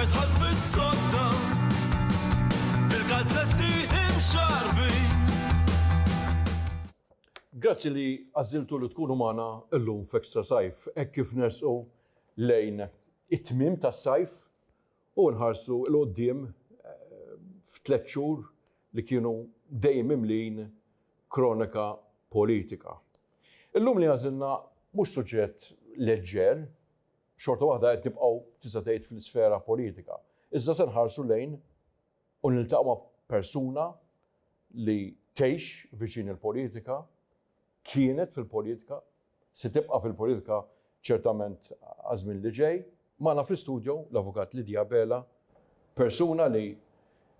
Erġajt dħalt fis-sodda bil-gazzetti imxarrbin. Grazzi li għażiltu li tkunu magħna llum f'Extra Sajf, hekk kif nersqu lejn it-tmiem tas-sajf u nħarsu 'l quddiem f'tliet xhur li kienu dejjem mimlijin kronika politika. Illum li għażilna mhux suġġett leġġer, xorta waħda qed nibqgħu tista' tgħid fl-isfera politika. Iżda se nħarsu lejn u niltaqgħu ma' persuna li tgħix viċin il-politika, kienet fil-politika, se tibqa' fil-politika ċertament għaż-żmien li ġej. Magħna fl-istudio l-Avukat Lydia Abela, persuna li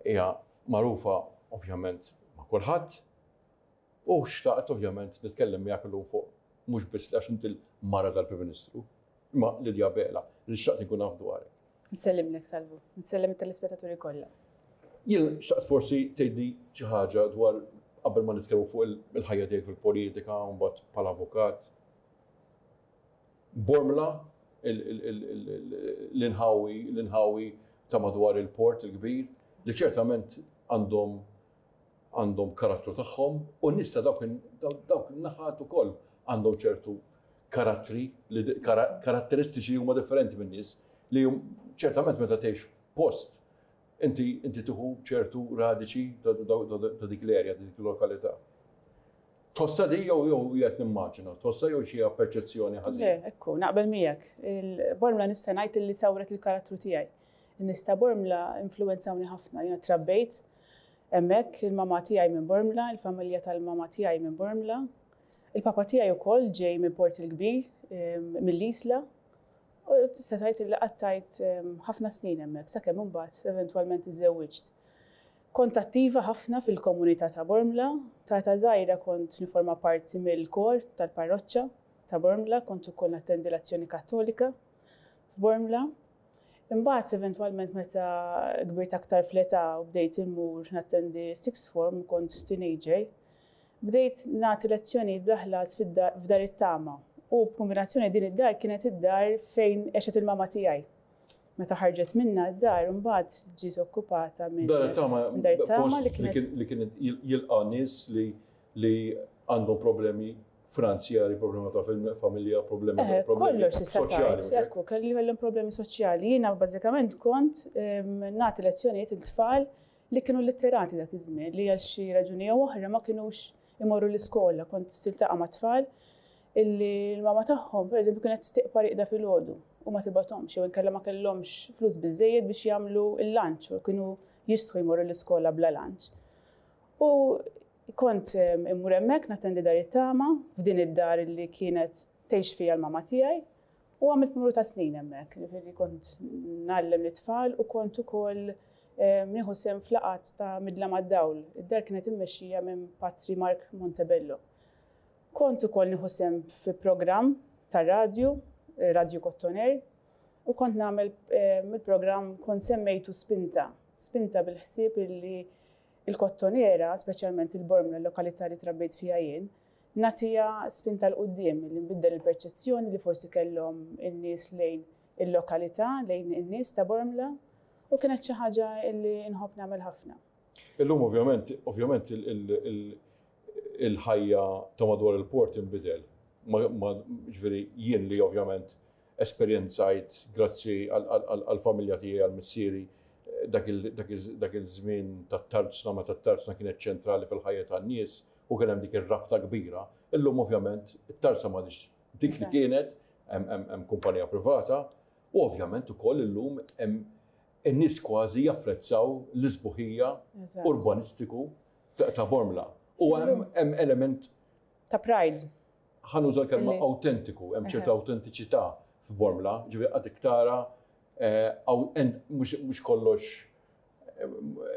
hija magħrufa ovvjament ma' kulħadd u xtaqt ovvjament nitkellem miegħek illum fuq mhux biss għax inti l-mara tal-Prim Ministru, imma Lydia Abela li xtaqt inkun naf dwarek. Nsellimlek Salvu, nsellem it-telespettaturi kollha. Jien xtaqt forsi tgħidli xi ħaġa dwar qabel ma nitkellmu fuq il-ħajja tiegħek fil-politika u mbagħad bħala avukat. Bormla, l-inħawi, l-inħawi ta' madwar il-port il-kbir, li ċertament għandhom għandhom karattru tagħhom u n-nies ta' dawk dawk in-naħat ukoll għandhom ċertu karattri li karatteristiċi huma differenti min-nies li ċertament meta tgħix post inti inti tieħu ċertu radiċi ta' dik l-erja, ta' dik il-lokalità. Tħossha di jew jew qiegħed nimmaġina, tħossha jew xi perċezzjoni ħażina? Le, ekku, naqbel miegħek. Il-Bormla nista' ngħid li sawret il-karattru tiegħi. In-nies ta' Bormla influwenzawni ħafna. Jiena trabbejt hemmhekk, il-mamà tiegħi minn Bormla, il-familja tal-mamà tiegħi minn Bormla. Il-papa tiegħi wkoll ġej minn Port il-Kbir, mill-Isla. U tista' tgħid li qattajt ħafna snin hemmhekk sakemm imbagħad eventwalment iżżewwiġt. Kont attiva ħafna fil-komunità ta' Bormla. Ta' età żgħira kont niforma parti mill-kor tal-parroċċa ta' Bormla, kont ukoll nattendi l-Azzjoni Kattolika f'Bormla. Imbagħad eventwalment meta kbirt aktar fl-età u bdejt immur nattendi sixth form u kont teenager, bdejt nagħti lezzjonijiet bla ħlas f'Dar it-Tama. U b'kombinazzjoni din id-dar kienet id-dar fejn għexet il-mama tiegħi. Meta ħarġet minna d-dar imbagħad ġiet okkupata minn Dar it-Tama Dar it-Tama li kienet li kienet jilqa' nies li li għandhom problemi finanzjari, problema ta' familja, problemi eh, kollox soċjali. Ekku, kelli kellhom problemi soċjali. Jiena bażikament kont ehm, nagħti lezzjonijiet il-tfal li kienu litterati dak iż-żmien li għal xi raġuni jew oħra ma kinux imorru l-iskola, kont tiltaqa' ma' tfal illi l-mama tagħhom, pereżempju, kienet tiqpa' riqda filgħodu u ma tibgħathomx jew inkella ma kellhomx flus biżżejjed biex jagħmlu l-lunch u kienu jistħu jmorru l-iskola bla lunch. U kont immur hemmhekk nattendi dar it-tama f'din id-dar illi kienet tgħix fiha l-mama tiegħi U għamilt numru ta' snin hemmhekk, jiġifieri kont ngħallem lit-tfal u kont ukoll nieħu sehem f'laqgħat ta' Midla mad-Dawl. Id-dar kienet immexxija minn Patri Mark Montebello. Kont ukoll nieħu sehem fi programm tar-radju, Radju Kottoner, u kont nagħmel il-programm kont semmejtu Spinta. Spinta bil-ħsieb illi il-Kottonera, speċjalment il-Bormla, l-lokalità li trabbejt fiha jien, nagħtiha spinta 'l quddiem, li nbiddel il-perċezzjoni li forsi kellhom in-nies lejn il-lokalità, lejn in-nies ta' Bormla, u kienet xi ħaġa li nħobb nagħmel ħafna. Illum ovvjament, ovvjament il-ħajja ta' madwar il-port inbidel. Ġifieri jien li ovvjament esperjenzajt grazzi għall-familja tiegħi għal missieri dak iż-żmien tat-tarzna meta t-tarzna kienet ċentrali fil-ħajja tan-nies u kien hemm dik ir-rabta kbira. Illum ovvjament it-tarzna m'għadhiex dik li kienet, hemm kumpanija privata u ovvjament ukoll illum hemm in-nies kważi japprezzaw l-isbuħija urbanistiku ta' Bormla. U hemm element ta' pride. Ħa nuża l-kelma awtentiku, hemm ċerta awtentiċità f'Bormla, ġifieri għadek tara eh, mhux kollox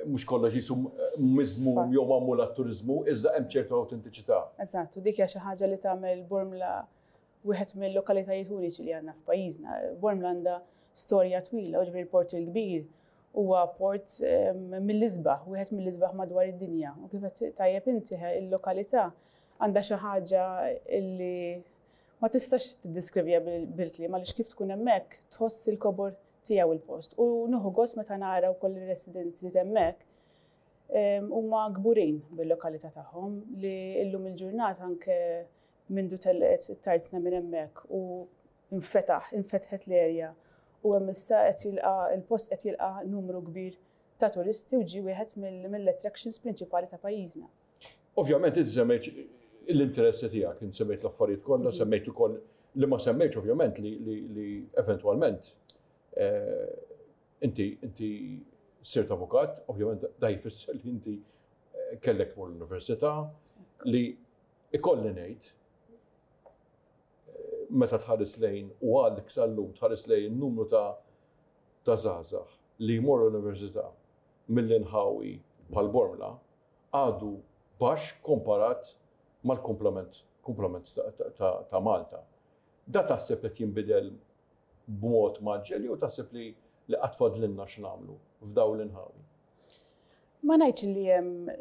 mhux kollox jisu miżmum jew magħmul għat-turiżmu, iżda hemm ċertu awtentiċità. Eżatt, u dik hija xi ħaġa li tagħmel Bormla wieħed mill-lokalitajiet uniċi li għandna f'pajjiżna. Bormla għandha storja twila, u ġifieri l-Port il-Kbir huwa port mill-isbaħ, wieħed mill-isbaħ madwar id-dinja. U kif qed tajjeb inti il-lokalità għandha xi ħaġa li ma tistax tiddeskriviha bil-kliem għaliex kif tkun hemmhekk tħoss il-kobor. tiegħu il-post. U nieħu gost meta nara wkoll ir-residenti hemmhekk huma kburin bil-lokalità tagħhom li llum il-ġurnata anke mindu telqet it-tarzna minn hemmhekk u infetaħ, infetħet l-erja u hemm issa qed jilqa' il-post qed jilqa' numru kbir ta' turisti u ġie wieħed mill-attractions prinċipali ta' pajjiżna. Ovvjament inti semmejt l-interessi tiegħek, inti semmejt l-affarijiet kollha, semmejt ukoll li ma semmejtx ovvjament li eventwalment eh, inti inti sirt avukat, ovvjament da jfisser li inti eh, kellek tmur l-università, li ikolli ngħid eh, meta tħares lejn u għadek sal-lum tħares lejn numru ta' ta' żgħażagħ li jmorru l-università mill-inħawi bħal Bormla għadu baxx komparat mal-kumplament kumplament ta' Malta. Da taħseb qed jinbidel b'mod mgħaġġel jew taħseb li li qatt fadlilna x'nagħmlu f'dawn l-inħawi? Ma ngħidx li hemm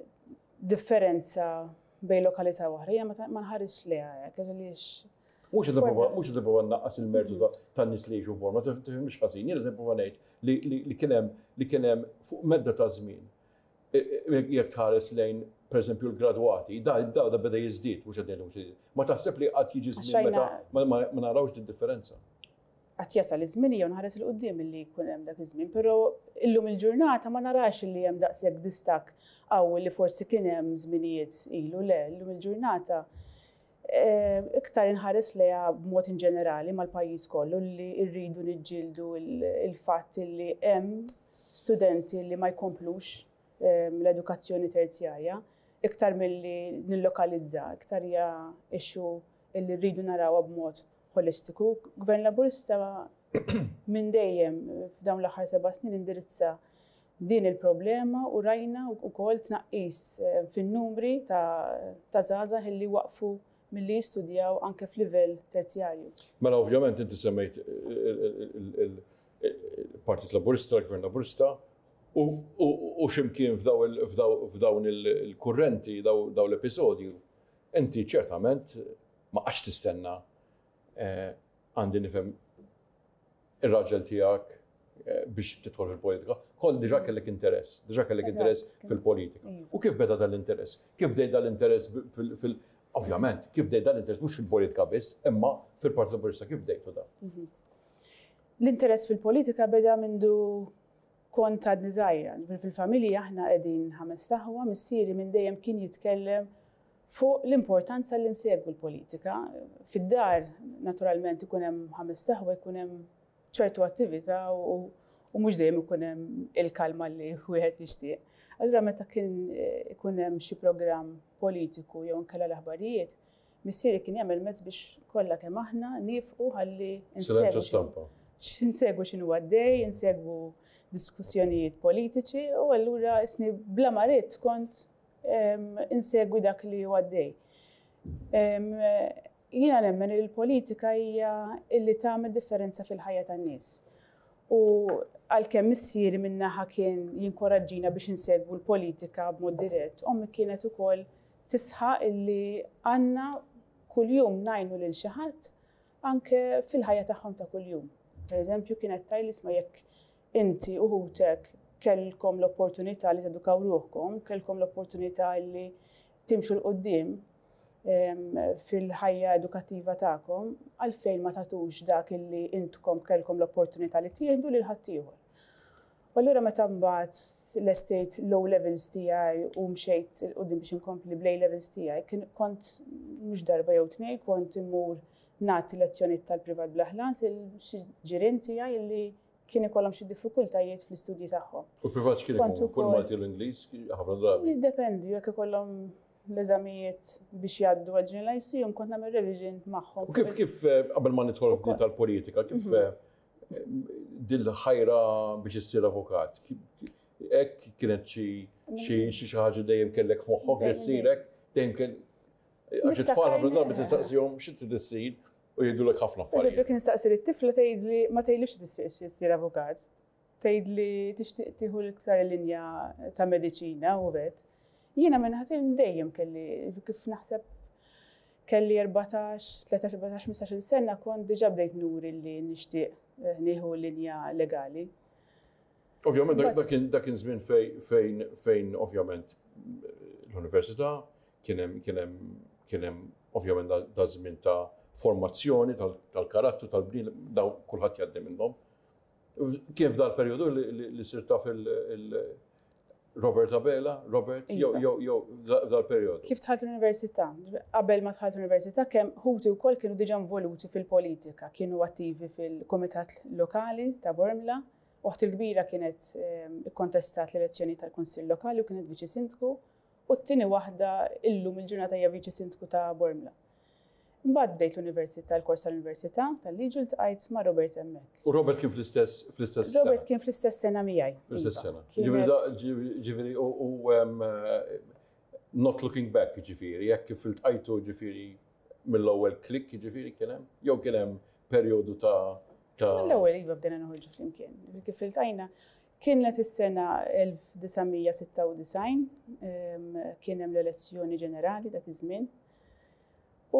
differenza bejn lokalità oħra, jiena ma nħarisx lejha hekk, għaliex Mhux qed nipprova mhux qed nipprova nnaqqas il-mertu tan-nies li jgħixu f'Bormla, tifhimx ħażin, jien qed nipprova ngħid li kien hemm li kien hemm fuq medda ta' żmien jekk tħares lejn pereżempju l-gradwati, da da da beda jiżdied, mhux qed ngħid mhux Ma taħseb li qatt jiġi żmien meta ma narawx din differenza? Qatt jasal iż-żmien jew nħares 'il quddiem illi jkun hemm dak iż-żmien, però illum il-ġurnata ma narax illi hemm daqshekk distakk qawwi li forsi kien hemm żminijiet ilu, le, illum il-ġurnata eh, iktar inħares lejha b'mod in ġenerali mal-pajjiż kollu li rridu niġġieldu il-fatt li hemm studenti li ma jkomplux eh, l-edukazzjoni terzjarja, iktar milli nillokalizza, iktar hija issue illi rridu narawha b'mod ħolistiku. Gvern Laburista minn dejjem f'dawn l-aħħar seba' snin indirizza din il-problema u rajna wkoll tnaqqis eh, fin-numri ta' żgħażagħ illi waqfu milli jistudjaw anke f'livell terzjarju. Mela ovvjament inti semmejt il-Partit Laburista, l-Gvern Laburista, u ximkien f'dawn il-kurrenti, dawn l-episodju, inti ċertament ma qgħadx tistenna eh, għandi nifhem ir-raġel tiegħek eh, biex tidħol fil-politika. Kol diġà kellek interess, diġà kellek interess fil-politika. Iva. U kif beda dal-interess? Kif bdej dal-interess fil- Ovvjament, kif bdej dal-interess mhux fil-politika biss, imma fil-Partit Laburista kif bdejtu da? Mhm. L-interess fil-politika beda mindu kont għadni żgħira. Fil-familja aħna qegħdin ħames taħwa, missieri minn dejjem kien jitkellem fuq l-importanza li nsegwu l-politika. Fid-dar, naturalment, ikun hemm ħames taħwa, jkun hemm ċertu attività u mhux dejjem ikun hemm il-kalma li wieħed jixtieq. Allura meta kien eh, ikun hemm xi programm politiku jew inkella l-aħbarijiet, missieri kien jagħmel mezz biex kollha kemm aħna nifqu ħalli insegwu. Insegwu x'inhu għaddej, insegwu diskussjonijiet politiċi u allura isni bla ma ridt kont insegwi dak li hu għaddej. Jiena nemmen li l-politika hija illi tagħmel differenza fil-ħajja tan-nies. U għalkemm missieri min-naħa kien jinkoraġġina biex insegwu l-politika b'mod dirett, ommi kienet ukoll tisħaq illi għandna kuljum ngħinu lil xi ħadd anke fil-ħajja tagħhom ta' kuljum. Per eżempju, kienet tgħidli isma' jekk inti u ħutek kellkom l-opportunità li tedukaw ruħkom, kellkom l-opportunità li timxu 'l quddiem fil-ħajja edukattiva tagħkom, għalfejn ma tagħtux dak li intkom kellkom l-opportunità li tieħdu lil ħaddieħor. U allura meta mbagħad lestejt l-O levels tiegħi u mxejt 'il quddiem biex inkompli bl-A levels tiegħi, kien kont mhux darba jew tnejn kont immur nagħti lezzjonijiet tal-privat bla ħlas il xi ġirien tiegħi li kien ikollhom xi diffikultajiet fl-istudji tagħhom. U l-privat x'kien ikun? Fuq il-Malti u l-Ingliż ħafna drabi? Jiddependi, jekk ikollhom l-eżamijiet biex jgħaddu għal Junior Lyceum kont nagħmel revision magħhom. U kif kif eh, qabel ma nidħol f'din tal-politika, kif mhm. eh, dil-ħajra biex issir avukat? Hekk kienet xi xi ħaġa dejjem kellek f'moħħok li ssirek, dejjem kien għax it-tfal ħafna drabi tistaqsihom xi trid issir u jgħidulek ħafna affarijiet. Eżempju, kien nistaqsi lit-tifla tgħidli ma tgħidlix tixtieq issir avukat. Tgħidli tixtieq tieħu l-iktar linja ta' mediċina u vet. Jiena minn ħażin dejjem kelli kif naħseb Kelli 14, 13, 14, 15 sena kont diġà bdejt nuri li nixtieq nieħu linja legali. Ovvjament dak kien żmien fejn fejn ovvjament l-università kien hemm kien hemm kien hemm ovvjament da żmien ta' formazzjoni tal-karattru tal-bniedem, daw kulħadd jgħaddi minnhom. Kien f'dal perjodu li sirt taf il-Robert Abela, Robert, jew Iva. jew f'dal perjodu. Kif dħalt l-università? Qabel ma dħalt l-università, kemm ħuti wkoll kienu diġà involuti fil-politika, kienu attivi fil-kumitat lokali ta' Bormla. Oħti l-kbira kienet ikkontestat l-elezzjoni tal-Kunsill Lokali u kienet viċi sindku, u t-tieni waħda illum il-ġurnata hija viċi sindku ta' Bormla. Imbagħad bdejt l-università, l-kors tal-università tal-liġi, ltqajt ma' Robert hemmhekk. U Robert kien fl-istess sena? Robert kien fl-istess sena miegħi. Fl-istess Iva. sena. Ġifieri ġifieri u not looking back, ġifieri, jekk kif iltqajtu, ġifieri mill-ewwel klik, ġifieri kien hemm, jew kien hemm perjodu ta' L-ewwel iva, bdejna noħorġu flimkien. Kif iltqajna kienet is-sena 1996, kien hemm l-elezzjoni ġenerali dak iż-żmien. U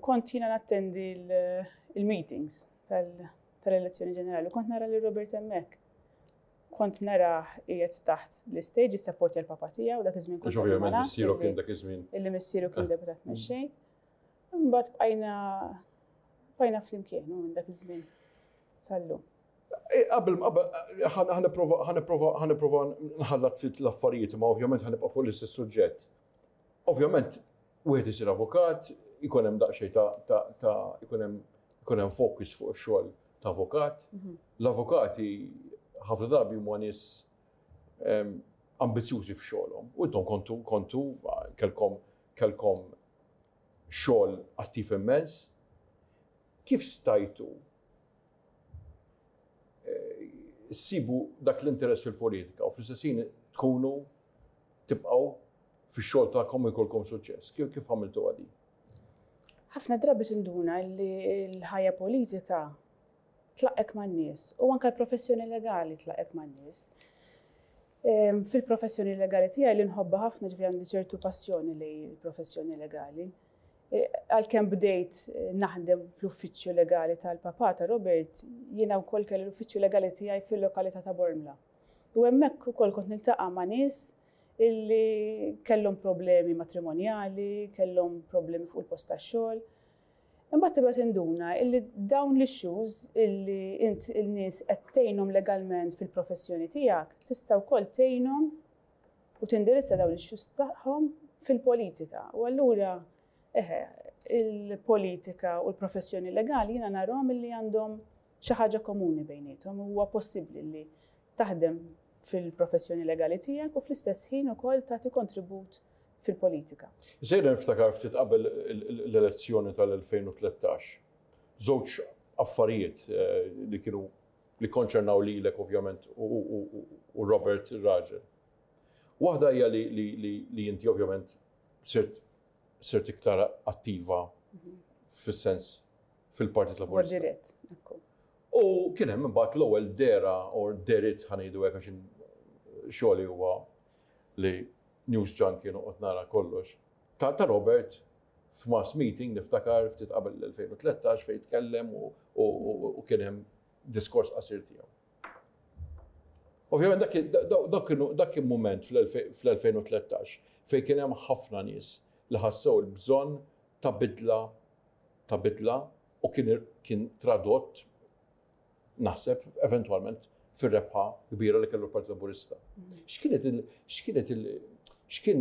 kont jiena nattendi il-meetings tal-elezzjoni ġenerali. Kont nara li Robert hemmhekk. Kont nara qiegħed taħt l-istage jissapporti l-papa tiegħu, dak iż-żmien kont Għax ovvjament ma nafx missieru kien dak iż-żmien. Illi missieru kien deputat mexxej. Imbagħad bqajna flimkien u minn dak iż-żmien sal-lum. Qabel ħa nipprova nħallat ftit l-affarijiet, ma ovvjament ħa nibqa' fuq l-istess suġġett. Ovvjament wieħed isir avukat, ikun hemm daqsxejn ta' ikun hemm focus fuq ix-xogħol ta' avukat. L-avukati ħafna drabi huma nies ambizzjużi f'xogħolhom. U intom kontu kelkom xogħol attiv immens. Kif stajtu ssibu dak l-interess fil-politika u fl-istess ħin tkunu tibqgħu fix-xogħol tagħkom u jkollkom suċċess? Kif għamiltu għadi? Ħafna drabi tinduna li l-ħajja politika tlaqqgħek man-nies u anke l-professjoni legali tlaqqgħek man-nies. Fil-professjoni legali tiegħi li nħobbha ħafna, ġifieri għandi ċertu passjoni li l-professjoni legali. Għalkemm bdejt naħdem fl-uffiċċju legali tal-papa ta' Robert, jiena wkoll kelli l-uffiċċju legali tiegħi fil-lokalità ta' Bormla. U hemmhekk ukoll kont niltaqa' ma' nies illi kellhom problemi matrimonjali, kellhom problemi fuq il-post tax-xogħol. Imbagħad tibda tinduna illi dawn l-issues illi int il-nies qed tgħinhom legalment fil-professjoni tiegħek, tista' wkoll tgħinhom u tindirizza dawn l-issues tagħhom fil-politika. U allura eħe, il-politika u l-professjoni legali jiena narahom illi għandhom xi ħaġa komuni bejniethom. Huwa possibbli li taħdem fil-professjoni legali tiegħek u fl-istess ħin ukoll tagħti kontribut fil-politika. Sejra niftakar ftit qabel l-elezzjoni tal-2013. Żewġ affarijiet li kienu li konċernaw lilek ovvjament u Robert ir-raġel. Waħda hija li inti ovvjament sirt iktar attiva fis-sens fil-Partit Laburista. Dirett, ekku. U kien hemm imbagħad l-ewwel dehra or dehriet, ħa ngħidu hekk, għax xogħli huwa li news junkie, noqgħod nara kollox. Ta' Robert f'mass meeting, niftakar ftit qabel l-2013, fejn tkellem u kien hemm diskors qasir tiegħu. Ovvjament dak kien moment fl-2013 fejn kien hemm ħafna nies li ħassew il-bżonn ta' bidla u kien tradott, naħseb, eventwalment fir-rebħa kbira li kellu l-Partit Laburista. X'kienet il x'kienet il x'kien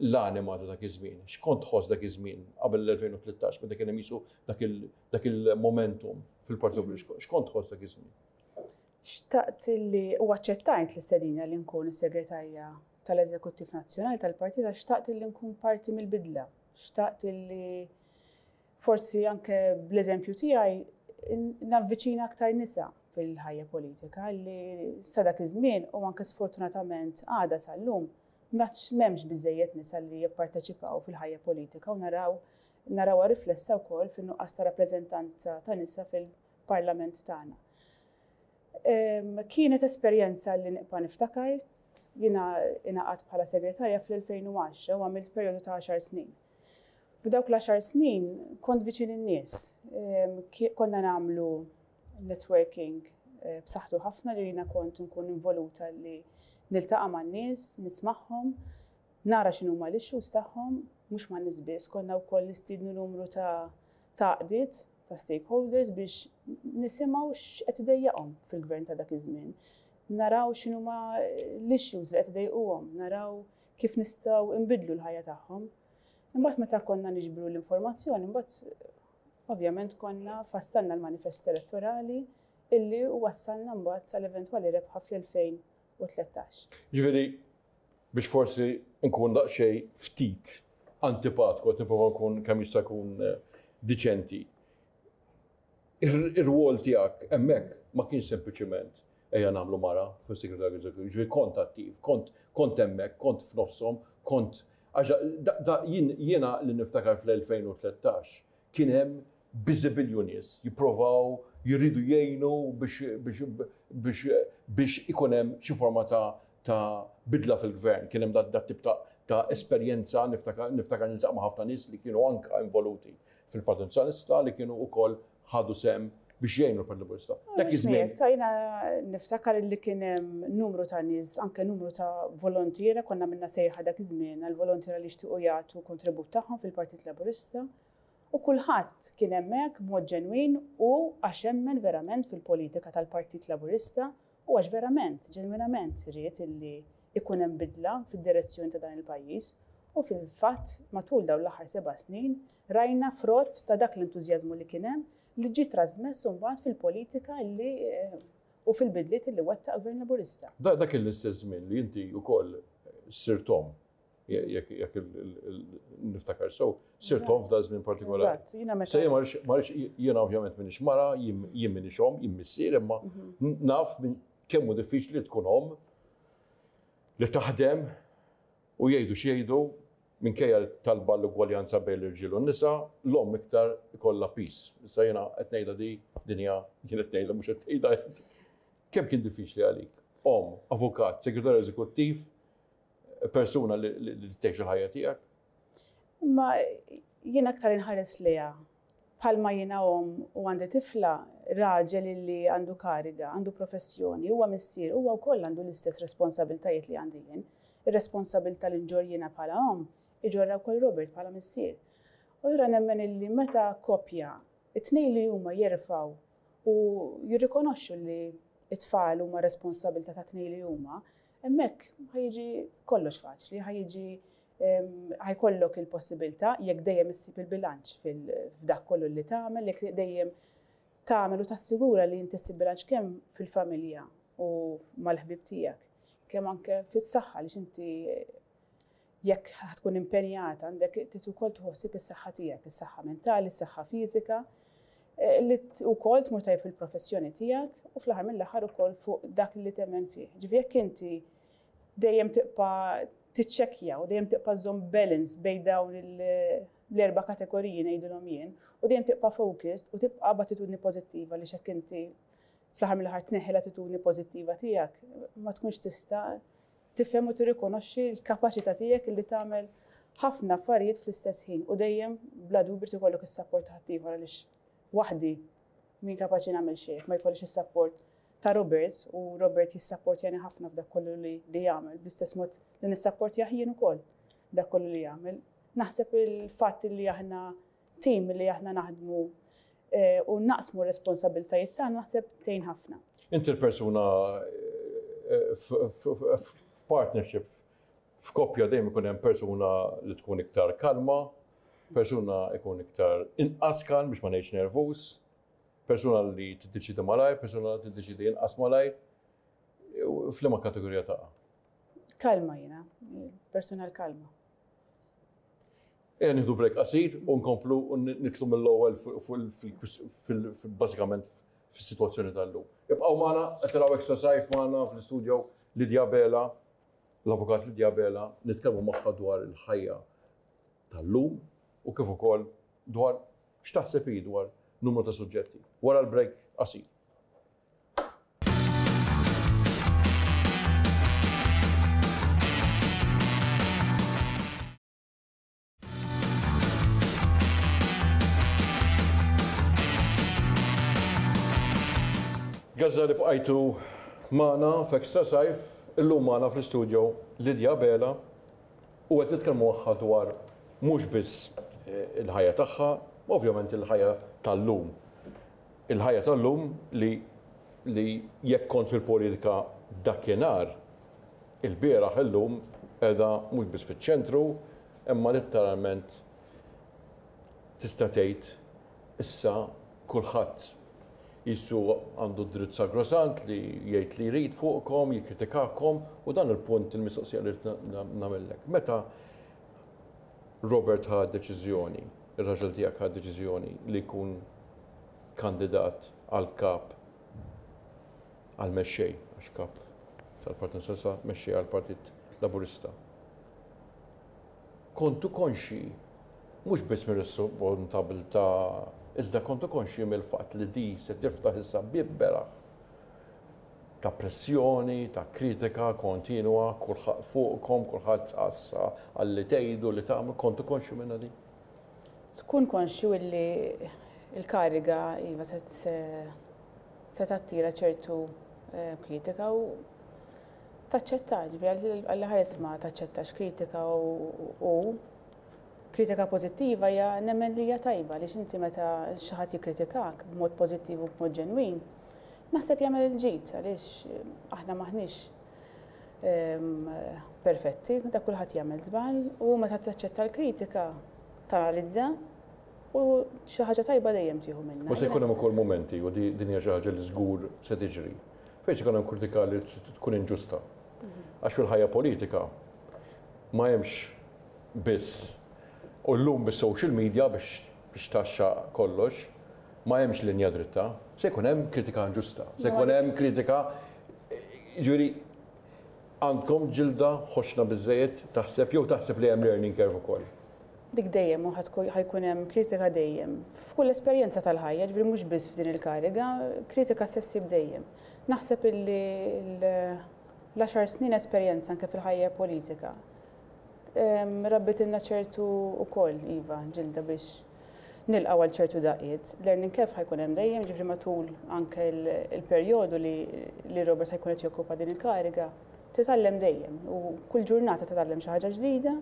l-anima ta' dak iż-żmien? X'kont tħoss dak iż-żmien qabel l-2013 meta kien hemm jisu dak il-momentum fil-Partit Laburista? X'kont tħoss dak iż-żmien? Xtaqt li u aċċettajt l-istedina li nkun is-segretarja tal-Eżekuttiv Nazzjonali tal-Partit għax xtaqt li nkun parti mill-bidla. Xtaqt li forsi anke bl-eżempju tiegħi navviċina aktar nisa fil-ħajja politika li sa dak iż-żmien u anke sfortunatament għada sal-lum m'hemmx biżejjed nisa li jipparteċipaw fil-ħajja politika u narawha riflessa wkoll fin-nuqqas ta' rappreżentanza ta' nisa fil-parlament tagħna. Kienet esperjenza li nibqa' niftakar. Jiena ingħaqadt bħala segretarja fl-2010 u għamilt perjodu ta' għaxar snin. F'dawk l-għaxar snin kont viċin in-nies. Konna nagħmlu networking b'saħħtu ħafna li jiena kont nkun involuta li niltaqa' man-nies, nismagħhom, nara x'inhuma l-issues tagħhom, mhux man-nies biss, konna wkoll nistiednu numru ta' għaqdiet, ta' stakeholders biex nisimgħu x'qed idejjaqhom fil-gvern ta' dak iż-żmien. Naraw x'inhuma l-issues li qed idejquhom, naraw kif nistgħu nbiddlu l-ħajja tagħhom. Imbagħad meta konna niġbru l-informazzjoni, imbagħad ovvjament konna fassalna l-manifest elettorali illi wassalna mbagħad sal-eventwali rebħa fl-2013. Ġifieri biex forsi nkun daqsxejn ftit antipatku, qed nipprova nkun kemm jista' jkun diċenti. Ir-rwol tiegħek hemmhekk ma kienx sempliċiment ejja nagħmlu mara fis-segretarju eżekuttiv, ġifieri kont attiv, kont kont hemmhekk, kont f'nofshom, kont għax jiena li niftakar fl-2013 kien hemm biżibilju nies jipprovaw jridu jgħinu biex ikun hemm xi forma ta' ta' bidla fil-gvern. Kien hemm dat tip ta' ta' esperjenza niftakar niftakar niltaqa' ma' ħafna nies li kienu anka involuti fil-Partit Nazzjonalista li kienu wkoll ħadu sehem biex jgħinu l-Partit Laburista. Dak iż-żmien. Jiena niftakar li kien hemm numru ta' nies, anke numru ta' volontiera, konna minna sejħa dak iż-żmien għal volontiera li jixtiequ jagħtu kontribut tagħhom fil-Partit Laburista. U kulħadd kien hemmhekk b'mod ġenwin u għax emmen verament fil-politika tal-Partit Laburista u għax verament, ġenwinament ried illi ikun hemm bidla fid-direzzjoni ta' dan il-pajjiż u fil-fatt matul dawn l-aħħar seba' snin rajna frott ta' dak l-entużjażmu li kien hemm li ġie trasmess imbagħad fil-politika illi u fil-bidliet illi wettaq Gvern Laburista. Dak kien l-istess żmien li inti wkoll sirt omm. Jekk niftakar sew, sirt omm f'da żmien partikolari. Eżatt, jiena meta. Se marx jiena ovvjament minix mara, jien minix omm, jien missier, imma mhm. naf kemm hu diffiċli tkun omm li taħdem u jgħidu x'jgħidu minkejja talba l-ugwaljanza bejn l-irġiel u n-nisa, l-omm iktar ikollha pis. Issa jiena qed ngħidha di dinja jien qed ngħidha mhux qed tgħidha. Kemm kien diffiċli għalik? Omm, avukat, segretarju eżekuttiv, persuna li tgħix il-ħajja tiegħek? Imma jien aktar inħares lejha bħalma jiena omm u għandi tifla, raġel illi għandu kariga, għandu professjoni, huwa missier, huwa wkoll għandu l-istess responsabiltajiet li għandi jien. Ir-responsabilità li nġorr jiena bħala omm, iġorrha wkoll Robert bħala missier. U allura nemmen illi meta koppja, it-tnejn li huma jerfgħu u jirrikonoxxu li t-tfal huma responsabilità tat-tnejn li huma, Hemmhekk ħa jiġi kollox faċli, ħa jiġi ħa jkollok il-possibilità jekk dejjem issib il-bilanċ f'dak kollu li tagħmel, jekk dejjem tagħmel u tassigura li inti ssib bilanċ kemm fil-familja u mal-ħbieb tiegħek, kemm anke fis-saħħa li inti jekk tkun impenjata għandek trid ukoll tħossib is-saħħa tiegħek, is-saħħa mentali, is-saħħa fiżika, eh, li wkoll tmur tajjeb fil-professjoni tiegħek u fl-aħħar mill-aħħar ukoll fuq dak li temmen fih. Ġifieri jekk inti dejjem tibqa' tiċċekkja u dejjem tibqa' żomm balance bejn dawn l-erba' kategoriji ngħidilhom jien u dejjem tibqa' focused u tibqa' b'attitudni pożittiva li x'hekk inti fl-aħħar mill-aħħar tneħħi l-attitudni pożittiva tiegħek ma tkunx tista' tifhem u tirrikonoxxi l-kapaċità tiegħek li tagħmel ħafna affarijiet fl-istess ħin u dejjem bla dubju trid ikollok is-sapport ta' ħaddieħor għaliex waħdi min kapaċi nagħmel xejn ma jkollix is-sapport ta' Robert u Robert jissapportjani ħafna f'dak kollu li, li jagħmel bl-istess mod li nissapportjah jien ukoll dak kollu li jagħmel. Naħseb il-fatt li aħna tim li aħna naħdmu eh, u naqsmu r-responsabiltajiet tagħna naħseb tgħin ħafna. Inti l-persuna eh, f'partnership f'koppja dejjem ikun hemm persuna li tkun iktar kalma, persuna ikun iktar inqas kalm biex ma ngħidx nervuż, persuna li tiddeċidi malajr, persuna li tiddeċidi inqas malajr. F'liema kategorija taqa'? Kalma jiena, persuna l-kalma. Ejja nieħdu break qasir u nkomplu u nitlu mill-ewwel bażikament fis-sitwazzjoni tal-lum. Ibqgħu magħna, qed taraw Extra Sajf magħna fl-istudio Lydia Abela, l-Avukat Lydia Abela, nitkellmu magħha dwar il-ħajja tal-lum u kif ukoll dwar x'taħseb hi dwar numru ta' suġġetti. Wara l-break qasir. Grazzi talli bqajtu magħna f'Extra Sajf. Illum magħna fl-istudio Lydia Abela u qed nitkellmu magħha dwar mhux biss il-ħajja tagħha, ovvjament il-ħajja tal-lum. Il-ħajja tal-lum li li jekk kont fil-politika dakinhar, ilbieraħ illum qiegħda mhux biss fiċ-ċentru imma letteralment tista' tgħid issa kulħadd qisu għandu d-dritt sagrosant li jgħid li jrid fuqkom, jikkritikakom u dan il-punt il-mistoqsija li rrid nagħmillek. Meta Robert ħa deċiżjoni, ir-raġel tiegħek ħa deċiżjoni li jkun kandidat għal kap għal mexxej, għax kap tal-Partit Nazzjonalista mexxej għal Partit Laburista. Kontu konxji mhux biss mir-responsabilità iżda kontu konxji mill-fatt li di se tiftaħ issa bieb beraħ ta' pressjoni, ta' kritika kontinwa, kulħadd fuqkom, kulħadd għassa għal li tgħidu, li tagħmlu, kontu konxju minnha di? Tkun konxju illi l-kariga iva se se tattira ċertu kritika u taċċetta, ġifieri Alla ħares ma taċċettax kritika u kritika pożittiva hija nemmen li hija tajba għaliex inti meta xi ħadd jikkritikak b'mod pożittiv u b'mod ġenwin, naħseb jagħmel il-ġid għaliex aħna m'aħniex perfetti, da kulħadd jagħmel żball u meta taċċetta l-kritika tanalizza u xi ħaġa tajba dejjem tieħu minnha. U se jkun hemm ukoll mumenti u din hija xi ħaġa li żgur se tiġri. Fejn se jkun hemm kritika li tkun inġusta. Għax fil-ħajja politika ma hemmx biss u llum bis-social media biex biex tgħaxxaq kollox, ma hemmx linja dritta. Se jkun hemm kritika inġusta. Se jkun hemm kritika jiġifieri għandkom ġilda ħoxna biżżejjed taħseb jew taħseb li hemm learning curve ukoll? Dik dejjem u ħa jkun hemm kritika dejjem. F'kull esperjenza tal-ħajja, ġifieri mhux biss f'din il-kariga, kritika se ssib dejjem. Naħseb illi l-għaxar snin esperjenza anke fil-ħajja politika rabbitilna ċertu ukoll, iva, ġilda biex nilqgħu għal ċertu daqqiet. Learning curve ħa jkun hemm dejjem, ġifieri matul anke l-perjodu li Robert ħa jkun qed jokkupa din il-kariga, titgħallem dejjem u kull ġurnata titgħallem xi ħaġa ġdida,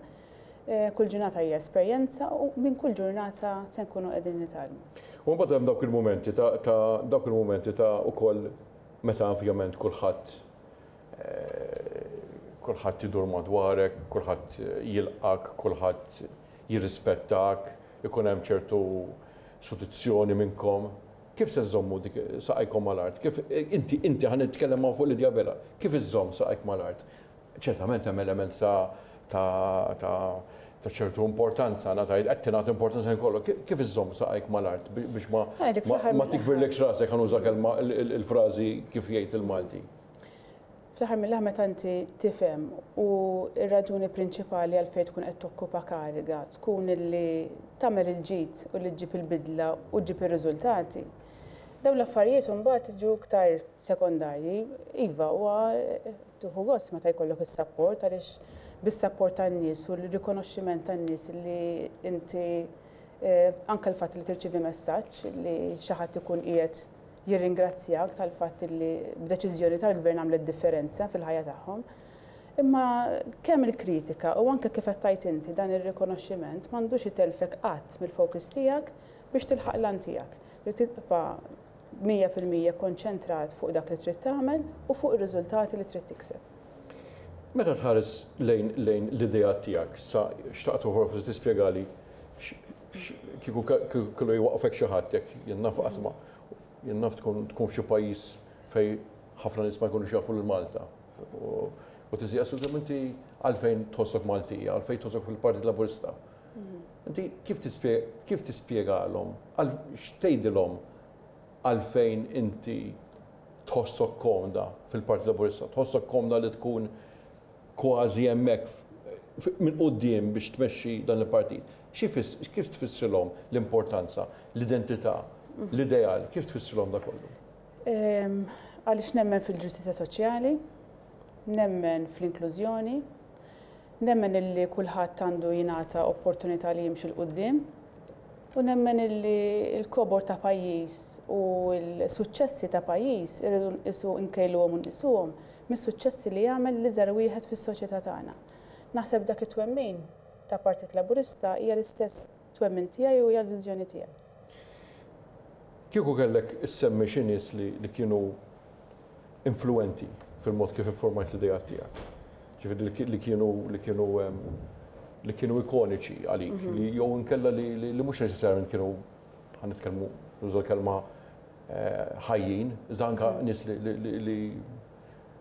kull ġurnata hija esperjenza u minn kull ġurnata se nkunu qegħdin nitgħallmu. U mbagħad hemm dawk il-mumenti ta' dawk il-mumenti ta' ukoll meta ovvjament kulħadd kulħadd idur madwarek, kulħadd jilqak, kulħadd jirrispettak, ikun hemm ċertu sodizzjoni minnkom. Kif se żżommu dik saqajkom mal-art? Kif inti inti ħa nitkellem hawn fuq Lydia Abela, kif iżżomm saqajk mal-art? Ċertament hemm element ta' ta' ta' ta' ċertu importanza, ngħid qed tingħata importanza ħin kollu. Kif iżżomm saqajk mal-art biex ma ma tikbirlekx rasek ħa nuża kelma il-frażi kif jgħid il-Malti? Fl-aħħar mill-aħħar meta inti tifhem u r-raġuni prinċipali għalfejn tkun qed tokkupa kariga tkun illi tagħmel il-ġid u li ġġib il-bidla u ġġib ir-riżultati, dawn l-affarijiet imbagħad jiġu iktar sekondarji. Iva, huwa tieħu gost meta jkollok is-sapport għaliex bis-sapport tan-nies u l-rikonoxximent tan-nies li inti anke l-fatt li tirċievi messaġġ li xi ħadd ikun qiegħed jirringrazzjak tal-fatt li b'deċiżjoni tal-gvern għamlet differenza fil-ħajja tagħhom. Imma kemm il-kritika u anke kif qed tgħid inti dan ir-rikonoxximent m'għandux itellfek qatt mill-focus tiegħek biex tilħaq l-għan tiegħek. Li tibqa' 100% konċentrat fuq dak li trid tagħmel u fuq ir-riżultati li trid tikseb. Meta tħares lejn lejn l-ideat tiegħek, sa xtaqt ukoll forsi tispjegali kieku kellu jwaqqfek xi ħadd jekk jien naf qatt ma jien naf tkun tkun f'xi pajjiż fejn ħafna nies ma jkunux jafu lil Malta. U tisaqsu kemm inti għalfejn tħossok Maltija, għalfejn tħossok fil-Partit Laburista. Inti kif kif tispjegalhom, x'tgħidilhom għalfejn inti tħossok komda fil-Partit Laburista, tħossok komda li tkun kważi hemmhekk minn quddiem biex tmexxi dan il-partit. Kif tfissrilhom l-importanza, l-identità, l-ideal, kif tfissrilhom da kollu? Għaliex nemmen fil-ġustizzja soċjali, nemmen fl-inklużjoni, nemmen illi kulħadd għandu jingħata opportunità li jimxi 'l quddiem. U nemmen illi l-kobor ta' pajjiż u l-suċċessi ta' pajjiż irridu nqisu nkejluhom u nqisuhom mis-suċċessi li jagħmel l-iżgħar wieħed fis-soċjetà tagħna. Naħseb dak it-twemmin ta' Partit Laburista hija l-istess twemmin tiegħi u hija l-viżjoni tiegħi. Kieku kellek issemmi xi nies li kienu influwenti fil-mod kif iffurmajt l-ideat tiegħek. Ġifieri li kienu li kienu li kienu ikoniċi għalik, mhm. li jew inkella li mhux neċessarjament kienu ħa nitkellmu nuża l-kelma eh, ħajjin, iżda anka mhm. nies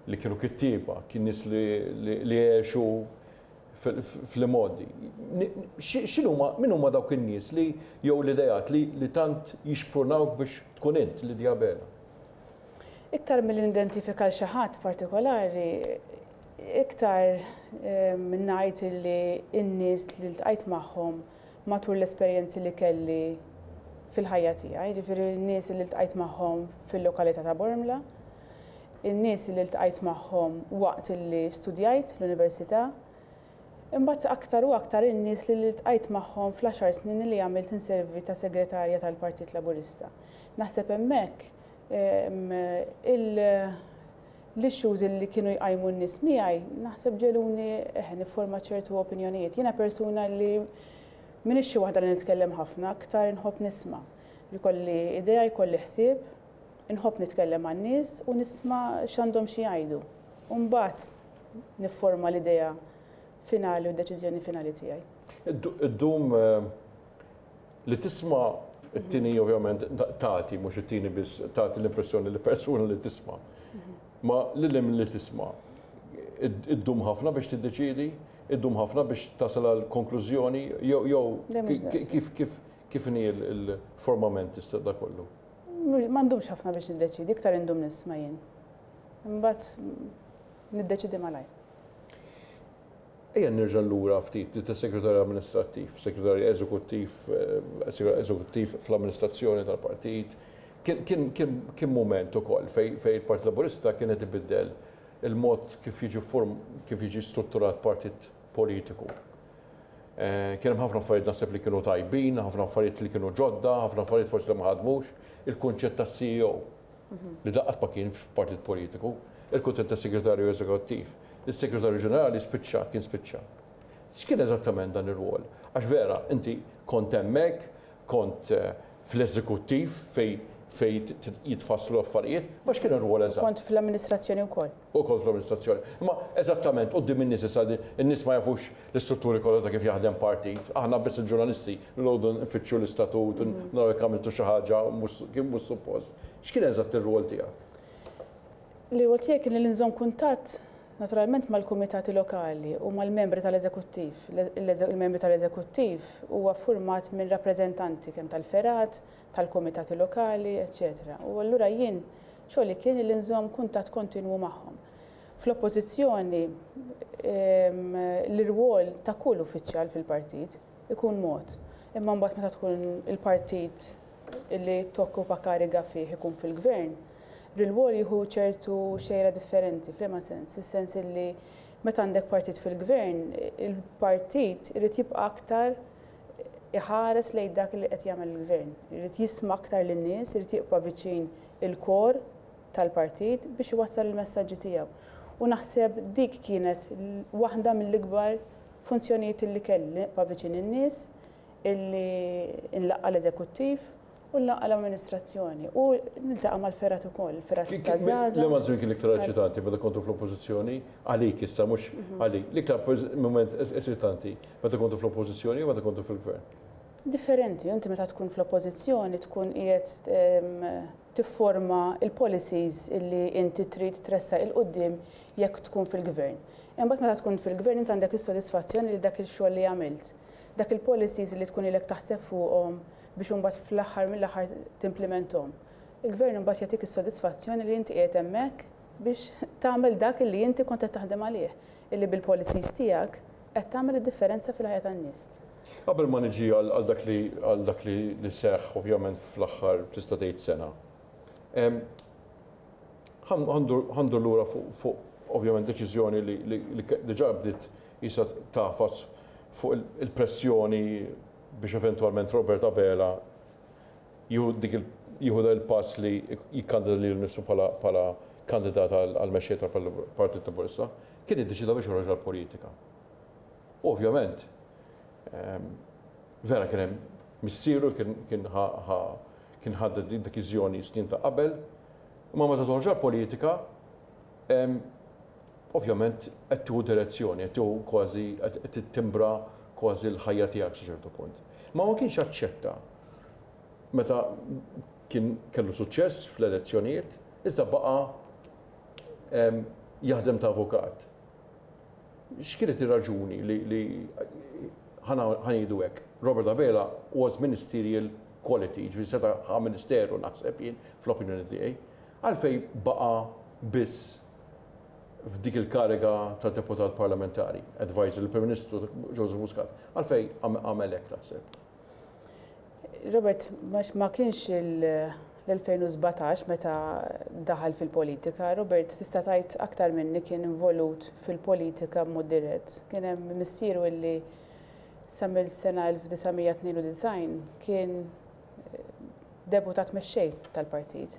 li kienu kittieba, kien nies li għexu fl-imgħoddi. X'inhuma min huma dawk in-nies li jew l-ideat li tant jixprunawk biex tkun int Lydia Abela? Iktar milli nidentifika 'l xi ħadd partikolari, iktar ngħid illi n-nies li ltqajt magħhom matul l-esperjenzi li kelli fil-ħajja tiegħi, jiġifieri n-nies li ltqajt magħhom fil-lokalità ta' Bormla, in-nies li ltqajt magħhom waqt illi studjajt l-università, imbagħad aktar u aktar in-nies li ltqajt magħhom fl-għaxar snin li għamilt inservi ta' segretarja tal-Partit Laburista. Naħseb hemmhekk l-issues li kienu jqajmu n-nies miegħi naħseb ġegħluni eħe nifforma ċertu opinjonijiet. Jiena persuna li m'iniex xi waħda li nitkellem ħafna, aktar inħobb nisma'. Jkolli idea, jkolli ħsieb, inħobb nitkellem man-nies u nisma' x'għandhom xi jgħidu. U mbagħad nifforma l-idea finali u d-deċiżjoni finali tiegħi. Iddum Li tisma' it-tieni ovvjament tagħti mhux it-tieni biss tagħti l-impressjoni li persuna li tisma'. Ma lil hemm li tisma' iddum ħafna biex tiddeċiedi, iddum ħafna biex tasal għal konklużjoni jew jew kif kif kif inhi l-formament tista' da kollu? Ma ndumx ħafna biex niddeċiedi, iktar indum nisma' jien. Imbagħad niddeċiedi malajr. Ejja nerġa' lura ftit li ta' segretarju amministrattiv, segretarju eżekuttiv, eżekuttiv fl-amministrazzjoni tal-partit. Kien mument ukoll fejn il-Partit Laburista kien qed ibiddel il-mod kif jiġi kif jiġi strutturat partit politiku. Kien hemm ħafna affarijiet naħseb li kienu tajbin, ħafna affarijiet li kienu ġodda, ħafna affarijiet forsi li ma ħadmux. Il-kunċett tas-CEO li da qatt ma kien f'partit politiku, il-kunċett tas-segretarju eżekuttiv. Is-Segretarju Ġenerali spiċċa, kien spiċċa. X'kien eżattament dan ir-rwol? Għax vera, inti kont hemmhekk, kont fl-eżekuttiv fejn fejn jitfasslu l-affarijiet, ma x'kien ir-rwol eżatt? Kont fl-amministrazzjoni wkoll. U kont fl-amministrazzjoni. Imma eżattament quddiem in-nies issa in-nies ma jafux l-istrutturi kollha ta' kif jaħdem partit. Aħna biss il-ġurnalisti noqogħdu nfittxu l-istatut, naraw jekk għamiltu xi ħaġa kif mhux suppost. X'kien eżatt ir-rwol tiegħek? L-irwol tiegħi kien li nżomm kuntatt naturalment mal-kumitati lokali u mal-membri tal-eżekuttiv. Il-membri tal-eżekuttiv huwa ffurmat minn rappreżentanti kemm tal-fergħat, tal-kumitati lokali, eċċetera. U allura jien xogħli kien li nżomm kuntatt kontinwu magħhom. Fl-oppożizzjoni l-irwol ta' kull uffiċjal fil-partit ikun mod. Imma mbagħad meta tkun il-partit li tokkupa kariga fih ikun fil-gvern, Rwol jieħu ċertu xejra differenti, f'liema sens? Is-sens illi meta għandek partit fil-gvern, il-partit irid jibqa' aktar iħares lejn dak li qed jagħmel il-gvern. Irid jisma' aktar lin-nies, irid jibqa' viċin il-kor tal-partit biex iwassal il-messaġġi tiegħu. U naħseb dik kienet waħda mill-ikbar funzjonijiet illi kelli, li nibqa' viċin in-nies, illi nlaqqa' l-eżekuttiv U nlaqqa' l-amministrazzjoni u niltaqa' mal-fergħat ukoll, il-fergħat taż-żgħażagħ. Liema żmien kien l-iktar eċitanti meta kontu fl-Oppożizzjoni? Għalik issa mhux għalik. L-iktar mument eċitanti meta kontu fl-Oppożizzjoni jew meta kontu fil-Gvern? Differenti, inti meta tkun fl-Oppożizzjoni tkun qiegħed tifforma l-policies illi inti trid tressaq 'il quddiem jekk tkun fil-Gvern. Imbagħad meta tkun fil-Gvern inti għandek is-sodisfazzjon li dak il-xogħol li għamilt, dak il-policies li tkun ilek taħseb fuqhom biex imbagħad fl-aħħar mill-aħħar timplimenthom. Il-Gvern imbagħad jagħtik is-sodisfazzjon li inti qiegħed hemmhekk biex tagħmel dak illi inti kont qed taħdem għalih, illi bil-policies tiegħek qed tagħmel id-differenza fil-ħajja tan-nies. Qabel ma niġi għal dak li għal dak li seħħ ovvjament fl-aħħar tista' tgħid sena. Ħa ndur lura fuq ovvjament deċiżjoni li diġà bdiet qisha tagħfas fuq il-pressjoni. biex eventwalment Robert Abela jieħu dik jieħu dan il-pass li jikkandida lilu nnifsu bħala bħala kandidat għall-mexxej tal-Partit Laburista, kien iddeċieda biex joħroġ għall-politika. U ovvjament, vera kien hemm missieru kien kien ħa kien ħa deċiżjoni snin ta' qabel, imma meta toħroġ għall-politika, ovvjament qed tieħu direzzjoni, qed tieħu kważi qed tittimbra kważi l-ħajja tiegħek sa ċertu punt. Ma ma kienx aċċetta meta kien kellu suċċess fl-elezzjonijiet, iżda baqa' jaħdem ta' avukat. X'kienet ir-raġuni li ħa ngħidu hekk, Robert Abela was ministerial quality, ġifieri seta' ħa ministeru naħseb jien fl-opinjoni tiegħi, għalfejn baqa' biss f'dik il-kariga ta' deputat parlamentari, advisor lill-Prim Ministru Joseph Muscat, għalfejn għamel hekk taħseb? Robert, ma kienx l-2017 meta daħal fil-politika, Robert tista' tgħid aktar minni kien involut fil-politika b'mod dirett. Kien hemm missieru illi sa mill-sena 1992 kien deputat mexxej tal-partit.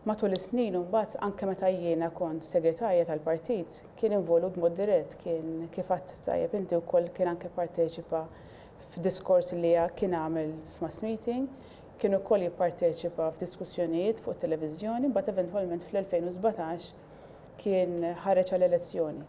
Matul is-snin imbagħad anke meta jiena kont segretarja tal-partit kien involut b'mod dirett, kien kif għedt tajjeb inti wkoll kien anke parteċipa f'diskors li kien għamel f'mass meeting, kien ukoll jipparteċipa f'diskussjonijiet fuq it-televiżjoni, mbagħad eventwalment fl-2017 kien ħareġ għall-elezzjoni.